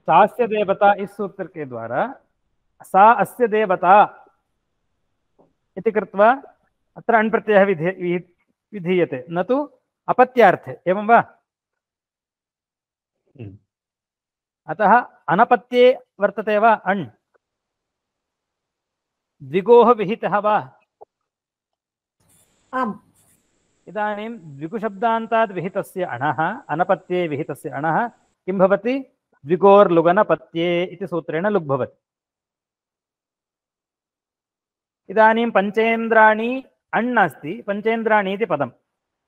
S1: सास्य देवता इस सूत्र के द्वारा सा अस्य देवता इति कृत्वा अत्र अण् प्रत्ययः विधीय विधीयते, न तु अपत्यार्थे। एवं वा? अतः अनपत्ये वर्तते वा अण्? द्विगोः विहितः वा?
S2: आम्।
S1: इदानीं द्विगुशब्दान्तात् विहितस्य अणः अनपत्ये विहितस्य अणः किं भवति? द्विगोर्लुगनपत्ये इति सूत्रेण लुग् भवति। इदानीं पञ्चेन्द्राणि अण् अस्ति, पञ्चेन्द्राणि इति पदं।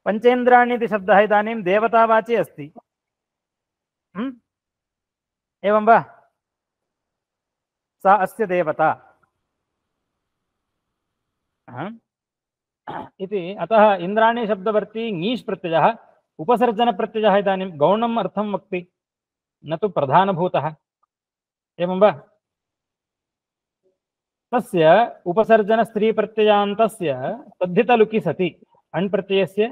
S1: पञ्चेन्द्राणि इति शब्दः इदानीं देवतावाची अस्ति। एवं वा? सा अस्य देवता इति। अतः इन्द्राणि शब्दवर्ती ङीष् प्रत्ययः उपसर्जनप्रत्ययः इदानीं गौणम् अर्थं वक्ति, न तु प्रधानभूतः। एवं वा? तस्य उपसर्जन स्त्री प्रत्ययान्तस्य तद्धितलुकि सति अण् प्रत्ययस्य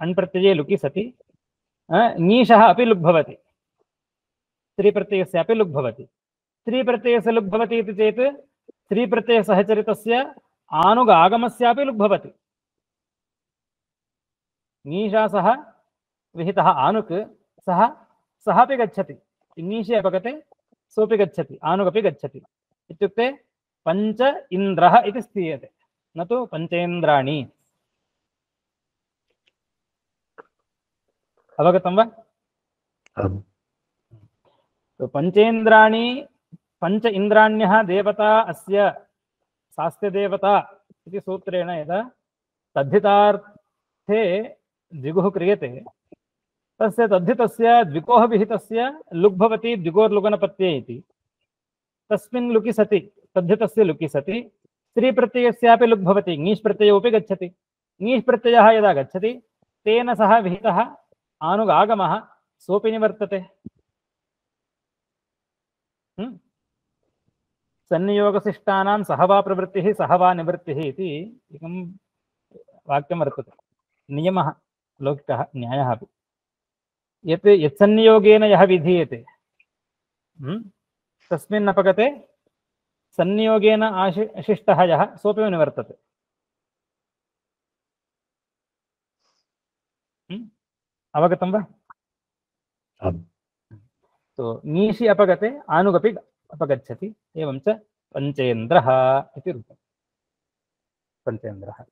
S1: अण् प्रत्यये लुकि सति ङीषः अपि लुग् भवति, स्त्री प्रत्ययस्य अपि लुग् भवति। स्त्री प्रत्ययस्य लुग् भवति इति चेत् स्त्री प्रत्ययसहचरितस्य आनुग आगमस्यापि लुग् भवति। ङीषा सह विहितः आनुक् सः सः अपि गच्छति, ङीषे अपगते सोऽपि गच्छति, आनुगपि गच्छति। इत्युक्ते पञ्च इन्द्रः इति स्थीयते, न तु पञ्चेन्द्राणि। अवगतं वा? तो पञ्चेन्द्राणि पञ्च इन्द्राण्यः देवता अस्य सास्य देवता इति सूत्रेण यदा तद्धितार्थे द्विगुः क्रियते तस्य तद्धितस्य द्विगोः विहितस्य लुग् भवति द्विगोर्लुगनपत्ये इति। तस्मिन् लुकि सति तद्धितस्य लुकि सति स्त्री प्रत्ययस्यापि लुग् भवति, ङीष् प्रत्ययोऽपि गच्छति। ङीष् प्रत्ययः यदा गच्छति तेन सह विहितः आनुगागमः सोऽपि निवर्तते। सन्नियोगशिष्टानां सहवा प्रवृत्तिः सहवा निवृत्तिः इति एकं वाक्यं वर्तते, नियमः, लौकिकः न्यायः अपि। यत् यत्सन्नियोगेन यः विधीयते तस्मिन् अपगते सन्नियोगेन आशिष्टः यः सोऽपि निवर्तते। अवगतं वा? तो ङीषि अपगते आनुगपि अपगच्छति। एवं च पञ्चेन्द्रः इति रूपं। पञ्चेन्द्रः।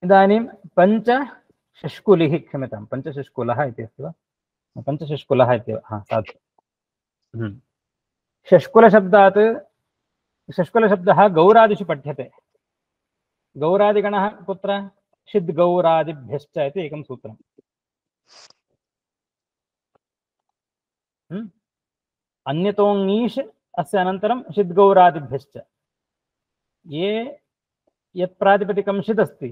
S1: इदानीं पञ्चषष्कुलिः, क्षम्यतां, पञ्चषष्कुलः इति अस्ति वा? पञ्चषष्कुलः इत्येव, हा साधु। षष्कुलशब्दात् षष्कुलशब्दः गौरादिषु पठ्यते। गौरादिगणः कुत्र? षिद्गौरादिभ्यश्च इति एकं सूत्रम्। अन्यतो ङीष् अस्य अनन्तरं षिद्गौरादिभ्यश्च ये यत् प्रातिपदिकं षिद् अस्ति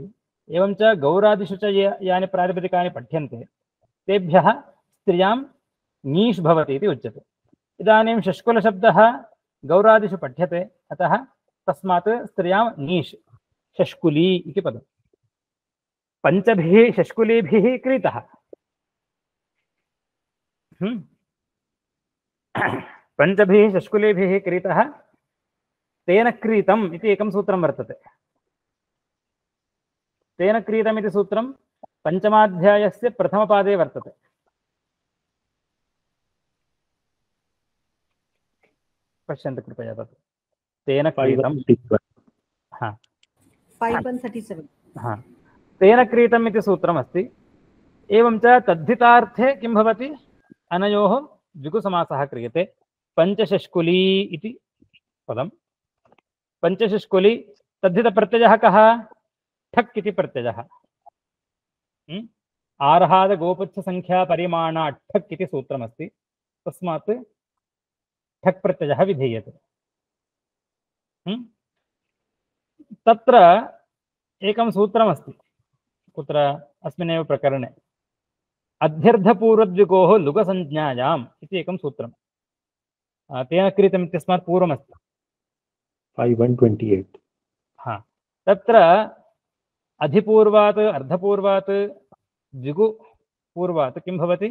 S1: एवं च गौरादिषु च ये यानि प्रातिपदिकानि पठ्यन्ते तेभ्यः स्त्रियां ङीष् भवति इति उच्यते। इदानीं षष्कुलशब्दः गौरादिषु पठ्यते अतः तस्मात् स्त्रियां ङीष् षष्कुली इति पदम्। पञ्चभिः षष्कुलीभिः क्रीतः। पञ्चभिः षष्कुलीभिः क्रीतः तेन क्रीतम् इति एकं सूत्रं वर्तते। तेन क्रीतम् इति सूत्रं पञ्चमाध्यायस्य प्रथमपादे वर्तते। पश्यन्तु कृपया तत् तेन क्रीतम्। हा
S2: five one thirty-seven.
S1: हा तेन क्रीतम् इति सूत्रमस्ति। एवं च तद्धितार्थे किं भवति अनयोः द्विगुसमासः क्रियते। पञ्चषष्कुली इति पदं। पञ्चषष्कुली तद्धितप्रत्ययः कः? ठक् इति प्रत्ययः। आर्हाद गोपुच्छ संख्या परिमाणा ठक् इति सूत्रमस्ति। तस्मात् ठक् प्रत्ययः विधीयते। तत्र एकं सूत्रमस्ति कुत्र अस्मिन्नेव प्रकरणे अध्यर्थपूर्वद्विगोः लुगसंज्ञायाम् इति एकं सूत्रं तेन क्रीतम् इत्यस्मात् पूर्वमस्ति।
S3: five one twenty-eight.
S1: हा तत्र अधिपूर्वात् अर्धपूर्वात् द्विगुपूर्वात् किं भवति?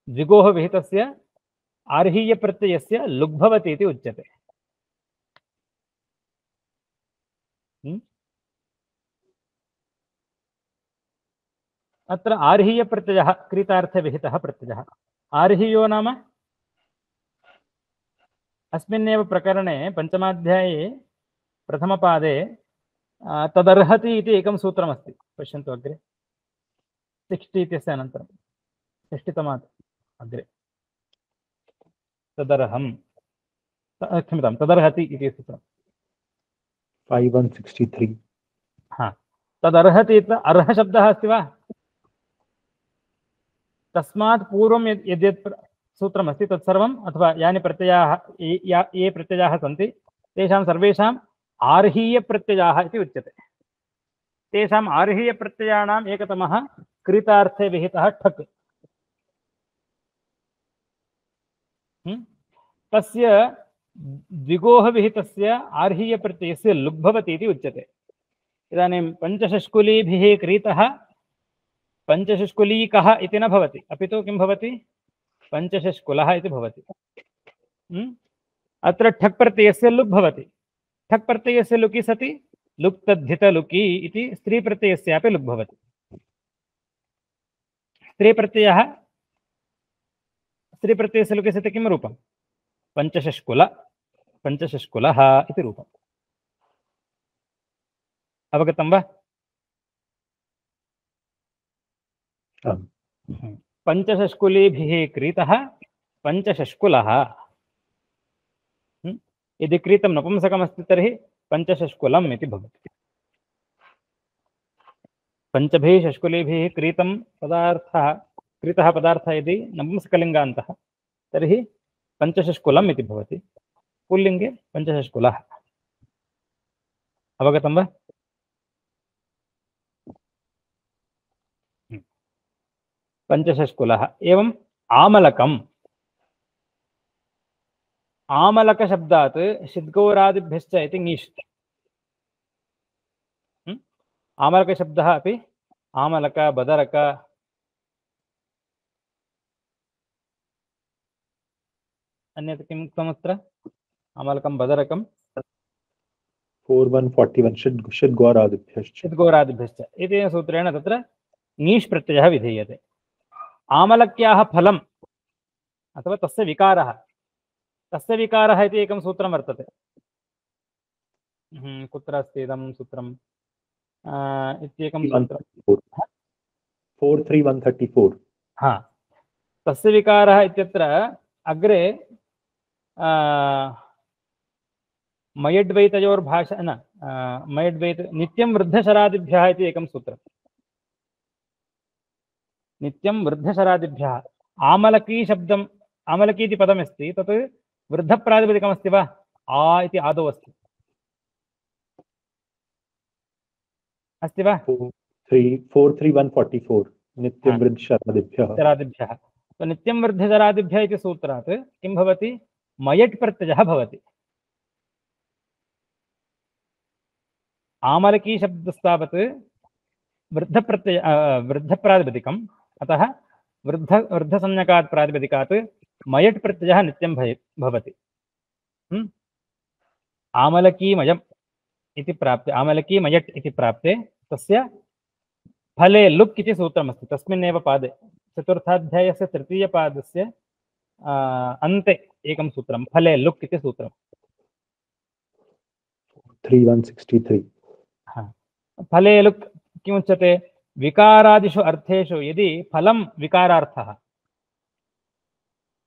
S1: द्विगोः विहितस्य आर्हीयप्रत्ययस्य लुग् भवति इति उच्यते। अत्र आर्हीयप्रत्ययः क्रीतार्थे विहितः प्रत्ययः। आर्हीयो नाम अस्मिन्नेव प्रकरणे पञ्चमाध्याये प्रथमपादे तदर्हति इति एकं सूत्रमस्ति। पश्यन्तु अग्रे सिक्स्टि इत्यस्य अनन्तरं षष्टितमात् अग्रे तदर्हं क्षम्यतां तदर्हति इति सूत्रं
S3: five one sixty-three.
S1: हा तदर्हति इति अर्हशब्दः अस्ति वा? तस्मात् पूर्वं यद् यद्यत् सूत्रमस्ति तत्सर्वम् अथवा यानि प्रत्ययाः ये ये प्रत्ययाः सन्ति तेषां सर्वेषाम् आर्हीयप्रत्ययाः इति उच्यते। तेषाम् आर्हीयप्रत्ययाणाम् एकतमः क्रीतार्थे विहितः ठक्। तस्य द्विगोः विहितस्य आर्हीयप्रत्ययस्य लुग् भवति इति उच्यते। इदानीं पञ्चषष्कुलीभिः क्रीतः पञ्चषष्कुलीकः इति न भवति, अपि तु किं भवति? पञ्चषष्कुलः इति भवति। अत्र ठक् प्रत्ययस्य लुग् भवति। ठक् प्रत्ययस्य लुकि सति लुक् तद्धितलुकि इति स्त्रीप्रत्ययस्यापि लुग् भवति। स्त्रीप्रत्ययः स्त्रीप्रत्ययस्य लुकि सति किं रूपं? पञ्चषष्कुल पञ्चषष्कुलः इति रूपम्। अवगतं वा? पञ्चषष्कुलीभिः क्रीतः पञ्चषष्कुलः। यदि क्रीतं नपुंसकमस्ति तर्हि पञ्चषष्कुलम् इति भवति। पञ्चभिः षष्कुलीभिः क्रीतं पदार्थः क्रीतः पदार्थः यदि नपुंसकलिङ्गान्तः तर्हि पञ्चषष्कुलम् इति भवति। पुल्लिङ्गे पञ्चषष्कुलः। अवगतं वा? पञ्चषष्कुलः। एवम् आमलकम्। आमलकशब्दात् षिद्गौरादिभ्यश्च इति ङीष्। आमलकशब्दः अपि आमलक बदरक अन्यत् किम् उक्तमत्र? आमलकं बदरकं
S3: four one forty-one षिद् षिद्गौरादिभ्यश्च
S1: षिद्गौरादिभ्यश्च इति सूत्रेण तत्र ङीष् प्रत्ययः विधीयते। आमलक्याः फलम् अथवा तस्य विकारः तस्य विकारः इति एकं सूत्रं वर्तते। कुत्र अस्ति इदं सूत्रम्? इत्येकं सूत्रं
S3: four three one thirty-four.
S1: हा तस्य विकारः इत्यत्र अग्रे मयड्वैतयोर्भाषा न मयड्वैत नित्यं वृद्धशरादिभ्यः इति एकं सूत्रम्। नित्यं वृद्धशरादिभ्यः आमलकी शब्दम् आमलकी इति पदमस्ति तत् वृद्धप्रातिपदिकमस्ति वा? आ इति आदौ अस्ति अस्ति वा?
S3: Three for three one forty for नित्यं वृद्धशरादिभ्यः।
S1: शरादिभ्यः। तो नित्यं वृद्धशरादिभ्यः इति सूत्रात् किं भवति? मयट् प्रत्ययः भवति। आमलकी शब्दस्तावत् वृद्धप्रत्यय वृद्धप्रातिपदिकम्, अतः वृद्ध वृद्धसंज्ञकात् प्रातिपदिकात् मयट् प्रत्ययः नित्यं भवति। आमलकीमयम् इति प्राप्ते, आमलकी मयट् इति प्राप्ते तस्य फले लुक् इति सूत्रमस्ति तस्मिन्नेव पादे। चतुर्थाध्यायस्य तृतीयपादस्य अन्ते एकं सूत्रं फले लुक् इति सूत्रम्।
S3: थ्री वन सिक्स्टी थ्री।
S1: फले लुक् किमुच्यते? विकारादिषु अर्थेषु यदि फलं विकारार्थः,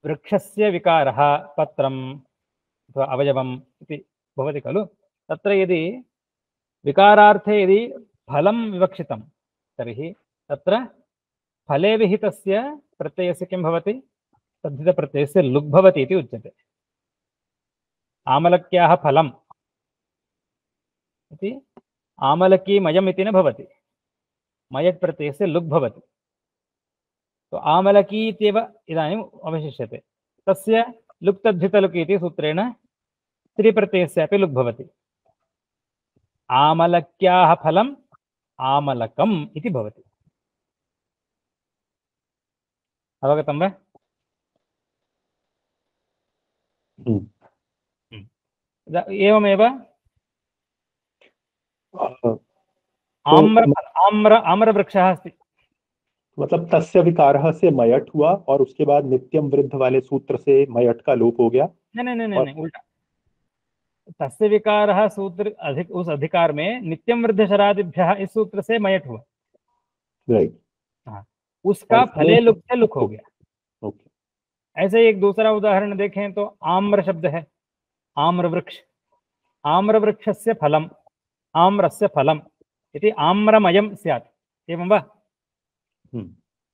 S1: वृक्षस्य विकारः पत्रम् अथवा अवयवम् इति भवति खलु, तत्र यदि विकारार्थे यदि फलं विवक्षितं तर्हि तत्र फले विहितस्य प्रत्ययस्य किं भवति? तद्धितप्रत्ययस्य लुक् भवति इति उच्यते। आमलक्याः फलम् इति आमलकीमयम् इति न भवति, मयट् प्रत्ययस्य लुक् भवति। तो आमलकी इत्येव इदानीम् अवशिष्यते। तस्य लुक् तद्धितलुक् इति सूत्रेण स्त्रीप्रत्ययस्यापि लुक् भवति। आमलक्याः फलम् आमलकम् इति भवति। अवगतं वा? एवमेव आम्र आम्र आम्रवृक्षः अस्ति,
S3: मतलब तस्य विकारः से मयट हुआ और उसके बाद नित्यम वृद्ध वाले सूत्र से मयट का लोप हो गया।
S1: नहीं नहीं नहीं नहीं उल्टा। तस्य विकारः सूत्र अधिक उस अधिकार में नित्यम वृद्ध शरादिभ्यः इस सूत्र से मयट हुआ,
S3: राइट।
S1: हाँ, उसका फले लुक से लुक हो गया।
S3: ओके।
S1: ऐसे एक दूसरा उदाहरण देखें तो आम्र शब्द है, आम्र वृक्ष, आम्र वृक्षस्य फलम् आम्रस्य फलम् इति आम्रमयं स्यात्, एवं वा?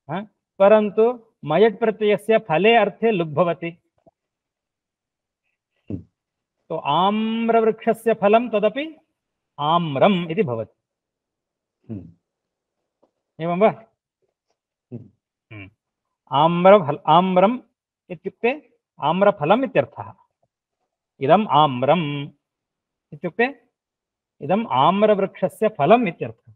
S1: हाँ, परन्तु मयट् प्रत्ययस्य फले अर्थे लुक् भवति। तो आम्रवृक्षस्य फलं तदपि आम्रम् इति भवति, एवं वा? आम्रफल आम्रम् इत्युक्ते आम्रफलम् इत्यर्थः। इदम् आम्रम् इत्युक्ते इदम् आम्रवृक्षस्य फलम् इत्यर्थः।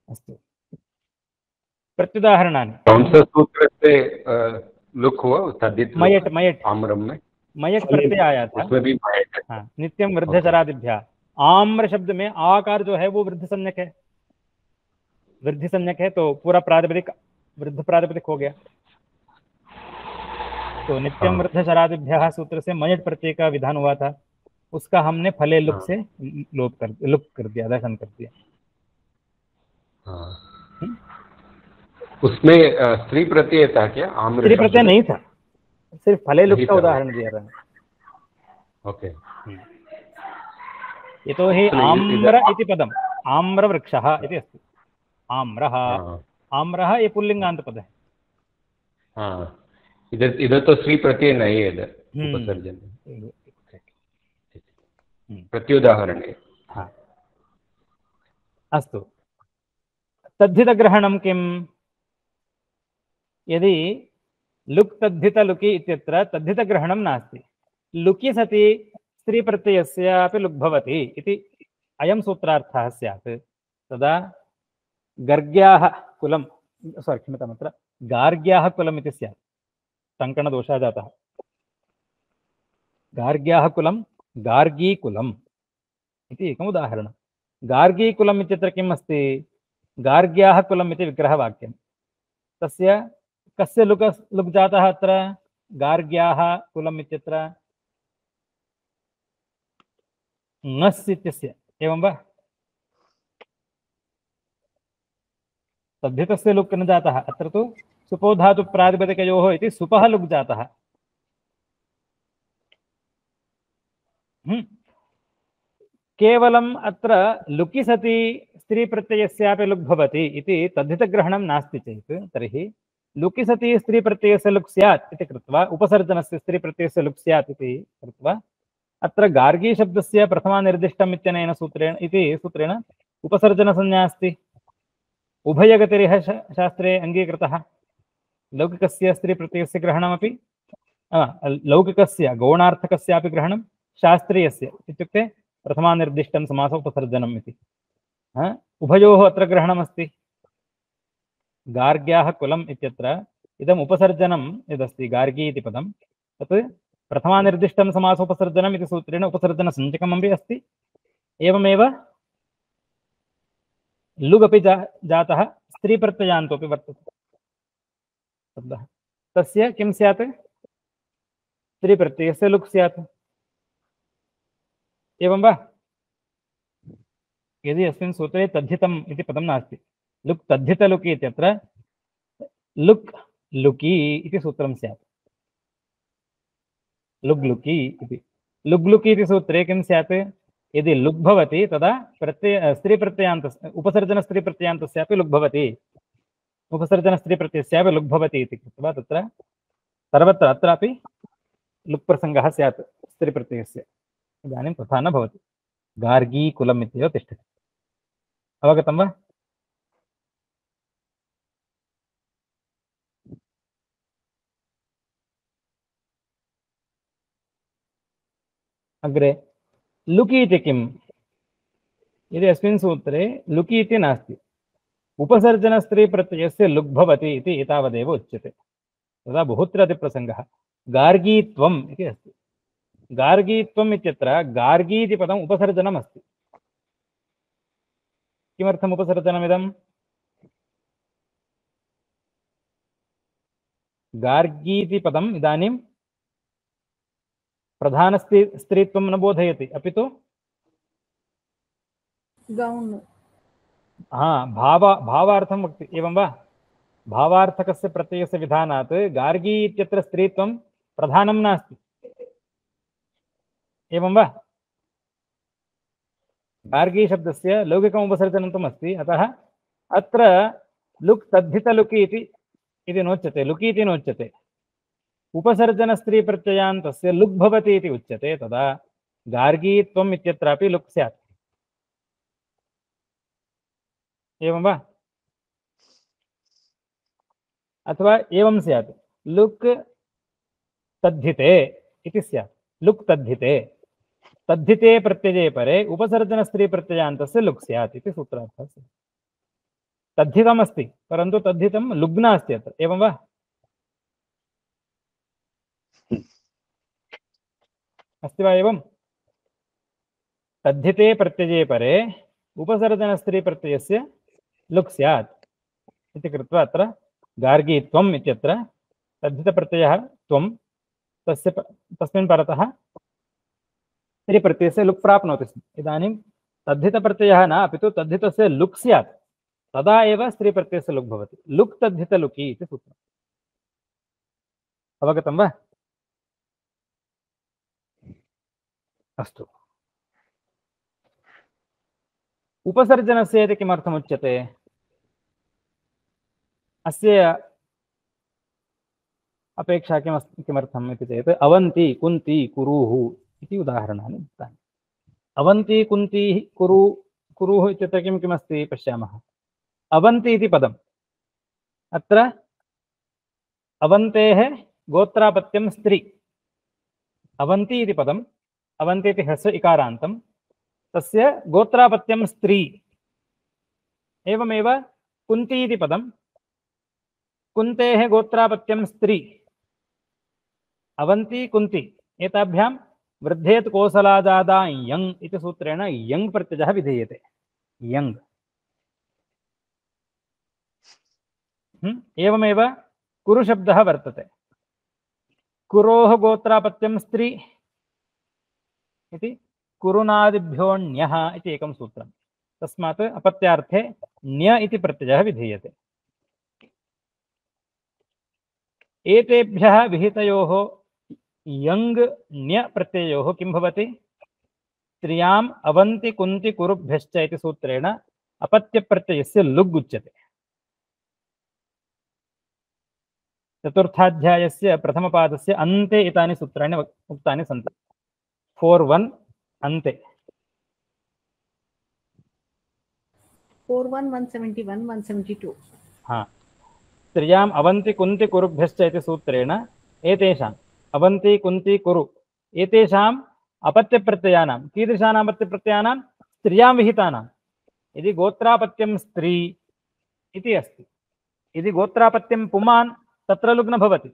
S1: अस्तु, प्रत्युदाहरणानि।
S4: कंससूत्रस्य लुक् हुआ तद्धित
S1: मयट् मयट्
S4: आम्रम में
S1: मयट् प्रत्यय आया था,
S4: उसमें भी मयट्।
S1: हाँ, नित्यम वृद्ध शरादिभ्यः। आम्र शब्द में आकार जो है वो वृद्ध संज्ञक है, वृद्धि संज्ञक है, तो पूरा प्रातिपदिक वृद्ध प्रातिपदिक हो गया। तो नित्यम वृद्ध शरादिभ्यः सूत्र से मयट् प्रत्यय का विधान हुआ था, उसका हमने फले लुक से लोप कर लुक कर दिया, दर्शन कर दिया।
S4: उसमें स्त्री प्रत्यय था क्या? आम्र
S1: स्त्री प्रत्यय नहीं था, सिर्फ फले लुक का उदाहरण दिया रहा है।
S4: ओके।
S1: यतो हि आम्र इति पदम् आम्रवृक्षः इति अस्ति। आम्रः आम्रः ये पुल्लिंगान्त पद है।
S4: हाँ, इधर इधर तो स्त्री प्रत्यय नहीं है, इधर उपसर्जन प्रत्युदाहरण है।
S1: हाँ, अस्तु, तद्धितग्रहणं किम्? यदि लुक् तद्धितलुकि इत्यत्र तद्धितग्रहणं नास्ति, लुकि सति स्त्रीप्रत्ययस्यापि लुक् भवति इति अयं सूत्रार्थः स्यात्, तदा गर्ग्याः कुलं सारी क्षम्यताम्, अत्र गार्ग्याः कुलम् इति स्यात्। टङ्कणदोषः जातः। गार्ग्याः कुलं गार्गीकुलम् इति एकम् उदाहरणं। गार्गीकुलम् इत्यत्र किम् अस्ति? गार्ग्याः कुलम् इति विग्रहवाक्यं। तस्य कस्य लुक् लुक् जातः अत्र? गार्ग्याः कुलम् इत्यत्र ङस् इत्यस्य, एवं वा? तद्धितस्य लुक् न जातः, अत्र तु सुपो धातु प्रातिपदिकयोः इति सुपः लुक् जातः। केवलम् अत्र लुकि सति स्त्रीप्रत्ययस्यापि लुक् भवति इति तद्धितग्रहणं नास्ति चेत् तर्हि लुकि सति स्त्रीप्रत्ययस्य लुक् स्यात् इति कृत्वा उपसर्जनस्य स्त्रीप्रत्ययस्य लुक् स्यात् इति कृत्वा अत्र गार्गीशब्दस्य प्रथमानिर्दिष्टम् इत्यनेन सूत्रेण इति सूत्रेण उपसर्जनसंज्ञा अस्ति। उभयगतिरिह शास्त्रे अङ्गीकृतः। लौकिकस्य स्त्रीप्रत्ययस्य ग्रहणमपि लौकिकस्य गौणार्थकस्यापि ग्रहणं शास्त्रीयस्य इत्युक्ते प्रथमानिर्दिष्टं समास उपसर्जनम् इति उभयोः अत्र ग्रहणमस्ति। गार्ग्याः कुलम् इत्यत्र इदम् उपसर्जनं यदस्ति गार्गी इति पदं तत् प्रथमानिर्दिष्टं समासोपसर्जनम् इति सूत्रेण उपसर्जनसञ्चकमपि अस्ति। एवमेव लुगपि जा जातः स्त्रीप्रत्ययान्तोऽपि वर्तते शब्दः। तस्य किं स्यात्? स्त्रीप्रत्ययस्य लुक् स्यात्। एवं वा? यदि अस्मिन् सूत्रे तद्धितम् इति पदं नास्ति, लुक् तद्धितलुकि इत्यत्र लुक् लुकि इति सूत्रं स्यात्। लुग्लुकि इति लुग्लुकि इति सूत्रे किं स्यात्? यदि लुक् भवति तदा प्रत्यय स्त्रीप्रत्ययान्तस्य उपसर्जनस्त्रीप्रत्ययान्तस्यापि लुक् भवति, उपसर्जनस्त्रीप्रत्ययस्यापि लुक् भवति इति कृत्वा तत्र सर्वत्र अत्रापि लुक् प्रसङ्गः स्यात् स्त्रीप्रत्ययस्य। इदानीं तथा न भवति, गार्गी कुलम् इत्येव तिष्ठति। अवगतं वा? अग्रे लुकि इति किम्? यदि अस्मिन् सूत्रे लुकि इति नास्ति, उपसर्जनस्त्रीप्रत्ययस्य लुक् भवति इति एतावदेव उच्यते, तदा बहुत्र अतिप्रसङ्गः। गार्गीत्वम् इति अस्ति। गार्गीत्वम् इत्यत्र गार्गी इति पदम् उपसर्जनम् अस्ति। किमर्थम् उपसर्जनमिदं? गार्गी इति पदम् इदानीं प्रधानस्त्री स्त्रीत्वं न बोधयति, अपि तु
S2: गौण
S1: हाँ भाव भावार्थं वक्ति। एवं वा? भावार्थकस्य प्रत्ययस्य विधानात् गार्गी इत्यत्र स्त्रीत्वं प्रधानं नास्ति। एवं वा? गार्गी शब्दस्य लौकिकम् उपसर्जनन्तम् अस्ति, अतः अत्र लुक् तद्धितलुकि इति इति नोच्यते, लुकि इति नोच्यते। उपसर्जनस्त्रीप्रत्ययान्तस्य लुक् भवति इति उच्यते, तदा गार्गीत्वम् इत्यत्रापि लुक् स्यात्। एवं वा? अथवा एवं स्यात्, लुक् तद्धिते इति स्यात्। लुक् तद्धिते, तद्धिते प्रत्यये परे उपसर्जनस्त्रीप्रत्ययान्तस्य लुक् स्यात् इति सूत्रार्थः। तद्धितमस्ति परन्तु तद्धितं लुग् नास्ति अत्र। एवं वा? अस्ति वा एवं? तद्धिते प्रत्यये परे उपसर्जनस्त्रीप्रत्ययस्य लुक् स्यात् इति कृत्वा अत्र गार्गीत्वम् इत्यत्र तद्धितप्रत्ययः त्वं तस्य तस्मिन् परतः स्त्रीप्रत्ययस्य लुक् प्राप्नोति स्म। इदानीं तद्धितप्रत्ययः न, अपि तु तद्धितस्य लुक् स्यात्, तदा एव स्त्रीप्रत्ययस्य लुक् भवति। लुक् तद्धितलुकि इति सूत्रम्। अवगतं वा? अस्तु। उपसर्जनस्य इति किमर्थमुच्यते? अस्य अपेक्षा किमस्ति किमर्थम् इति चेत् अवन्ती कुन्ती कुरुः इति उदाहरणानि दत्तानि। अवन्ती कुन्ती कुरु कुरुः इत्यत्र किं किमस्ति पश्यामः। अवन्ती इति पदम्, अत्र अवन्तेः गोत्रापत्यं स्त्री। अवन्ती इति पदम्, अवन्ती इति ह्रस्व इकारान्तं, तस्य गोत्रापत्यं स्त्री। एवमेव कुन्ती इति पदं, कुन्तेः गोत्रापत्यं स्त्री। अवन्ती कुन्ती एताभ्यां वृद्धेत् कोसलाजादा यङ् इति सूत्रेण यङ् प्रत्ययः विधीयते। यङ्। एवमेव कुरुशब्दः वर्तते। कुरोः गोत्रापत्यं स्त्री इति कुरुनादिभ्योऽण्यः इति एकं सूत्रम्। तस्मात् अपत्यार्थे ण्य इति प्रत्ययः विधीयते। एतेभ्यः विहितयोः यङ् ण्य प्रत्ययोः किं भवति? स्त्रियाम् अवन्ति कुन्ति कुरुभ्यश्च इति सूत्रेण अपत्यप्रत्ययस्य लुग् उच्यते। चतुर्थाध्यायस्य प्रथमपादस्य अन्ते एतानि सूत्राणि उक्तानि सन्ति। फोर् वन् अन्ते
S2: four one one seventy one one seventy two.
S1: हाँ, स्त्रियाम् अवन्ति कुन्ति कुरुभ्यश्च इति सूत्रेण एतेषाम् अवन्ति कुन्ति कुरु एतेषाम् अपत्यप्रत्ययानां कीदृशानाम् अपत्यप्रत्ययानां स्त्रियां विहितानां। यदि गोत्रापत्यं स्त्री इति अस्ति, यदि गोत्रापत्यं पुमान् तत्र लुग् न भवति।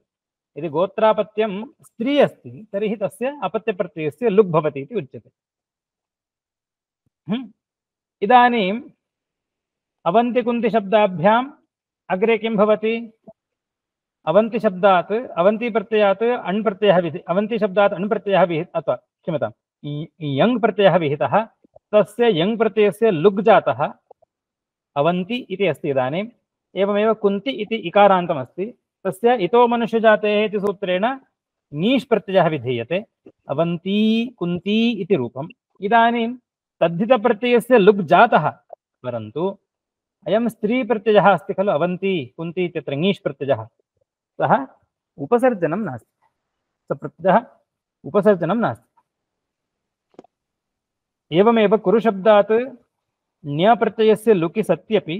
S1: यदि गोत्रापत्यं स्त्री अस्ति तर्हि तस्य अपत्यप्रत्ययस्य लुग् भवति इति उच्यते। इदानीम् अवन्ति कुन्ति शब्दाभ्याम् अग्रे किं भवति? अवन्ति शब्दात् अवन्ति प्रत्ययात् अण् प्रत्ययः विधि अवन्ति शब्दात् अण् प्रत्ययः विहितः अथवा क्षम्यतां यङ् प्रत्ययः विहितः, तस्य यङ् प्रत्ययस्य लुग् जातः अवन्ति इति अस्ति। इदानीम् एवमेव कुन्ति इति इकारान्तमस्ति, तस्य इतो मनुष्यजातेः इति सूत्रेण नीष् प्रत्ययः विधीयते, अवन्ती कुन्ती इति रूपम्। इदानीं तद्धितप्रत्ययस्य लुग् जातः, परन्तु अयं स्त्री प्रत्ययः अस्ति खलु, अवन्ती कुन्ती इत्यत्र ङीष् प्रत्ययः, सः उपसर्जनं नास्ति, स प्रत्ययः उपसर्जनं नास्ति। एवमेव कुरुशब्दात् ण्य प्रत्ययस्य लुकि सत्यपि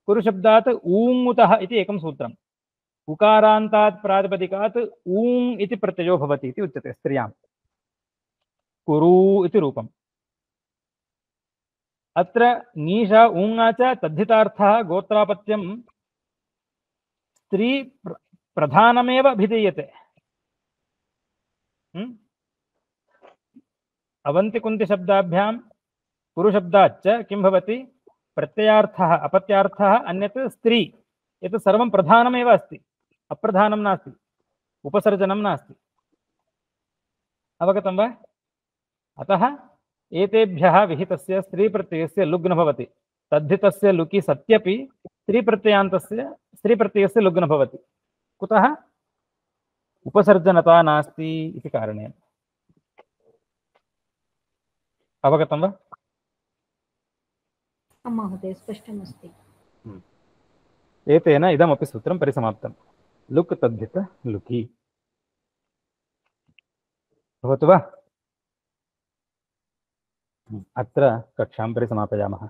S1: कुरुशब्दात् ऊङ्मुतः इति एकं सूत्रम्। उकारान्तात् प्रातिपदिकात् ऊङ् इति प्रत्ययो भवति इति उच्यते स्त्रियां। कुरु इति रूपम्। अत्र ङीषा ऊङा च तद्धितार्थः गोत्रापत्यं स्त्री प्रधानमेव अभिधीयते। अवन्ति कुन्ति शब्दाभ्यां कुरुशब्दाच्च किं भवति? प्रत्ययार्थः अपत्यार्थः अन्यत् स्त्री, एतत् सर्वं प्रधानमेव अस्ति, अप्रधानं नास्ति, उपसर्जनं नास्ति। अवगतं वा? अतः एतेभ्यः विहितस्य स्त्रीप्रत्ययस्य लुग् न भवति। तद्धितस्य लुकि सत्यपि स्त्रीप्रत्ययान्तस्य स्त्रीप्रत्ययस्य लुग् न भवति। कुतः? उपसर्जनता नास्ति इति कारणेन। अवगतं वा?
S2: आं महोदय, स्पष्टमस्ति।
S1: एतेन इदमपि सूत्रं परिसमाप्तं। लुक् तद्धित लुकि भवतु वा? अत्र कक्षां परिसमापयामः।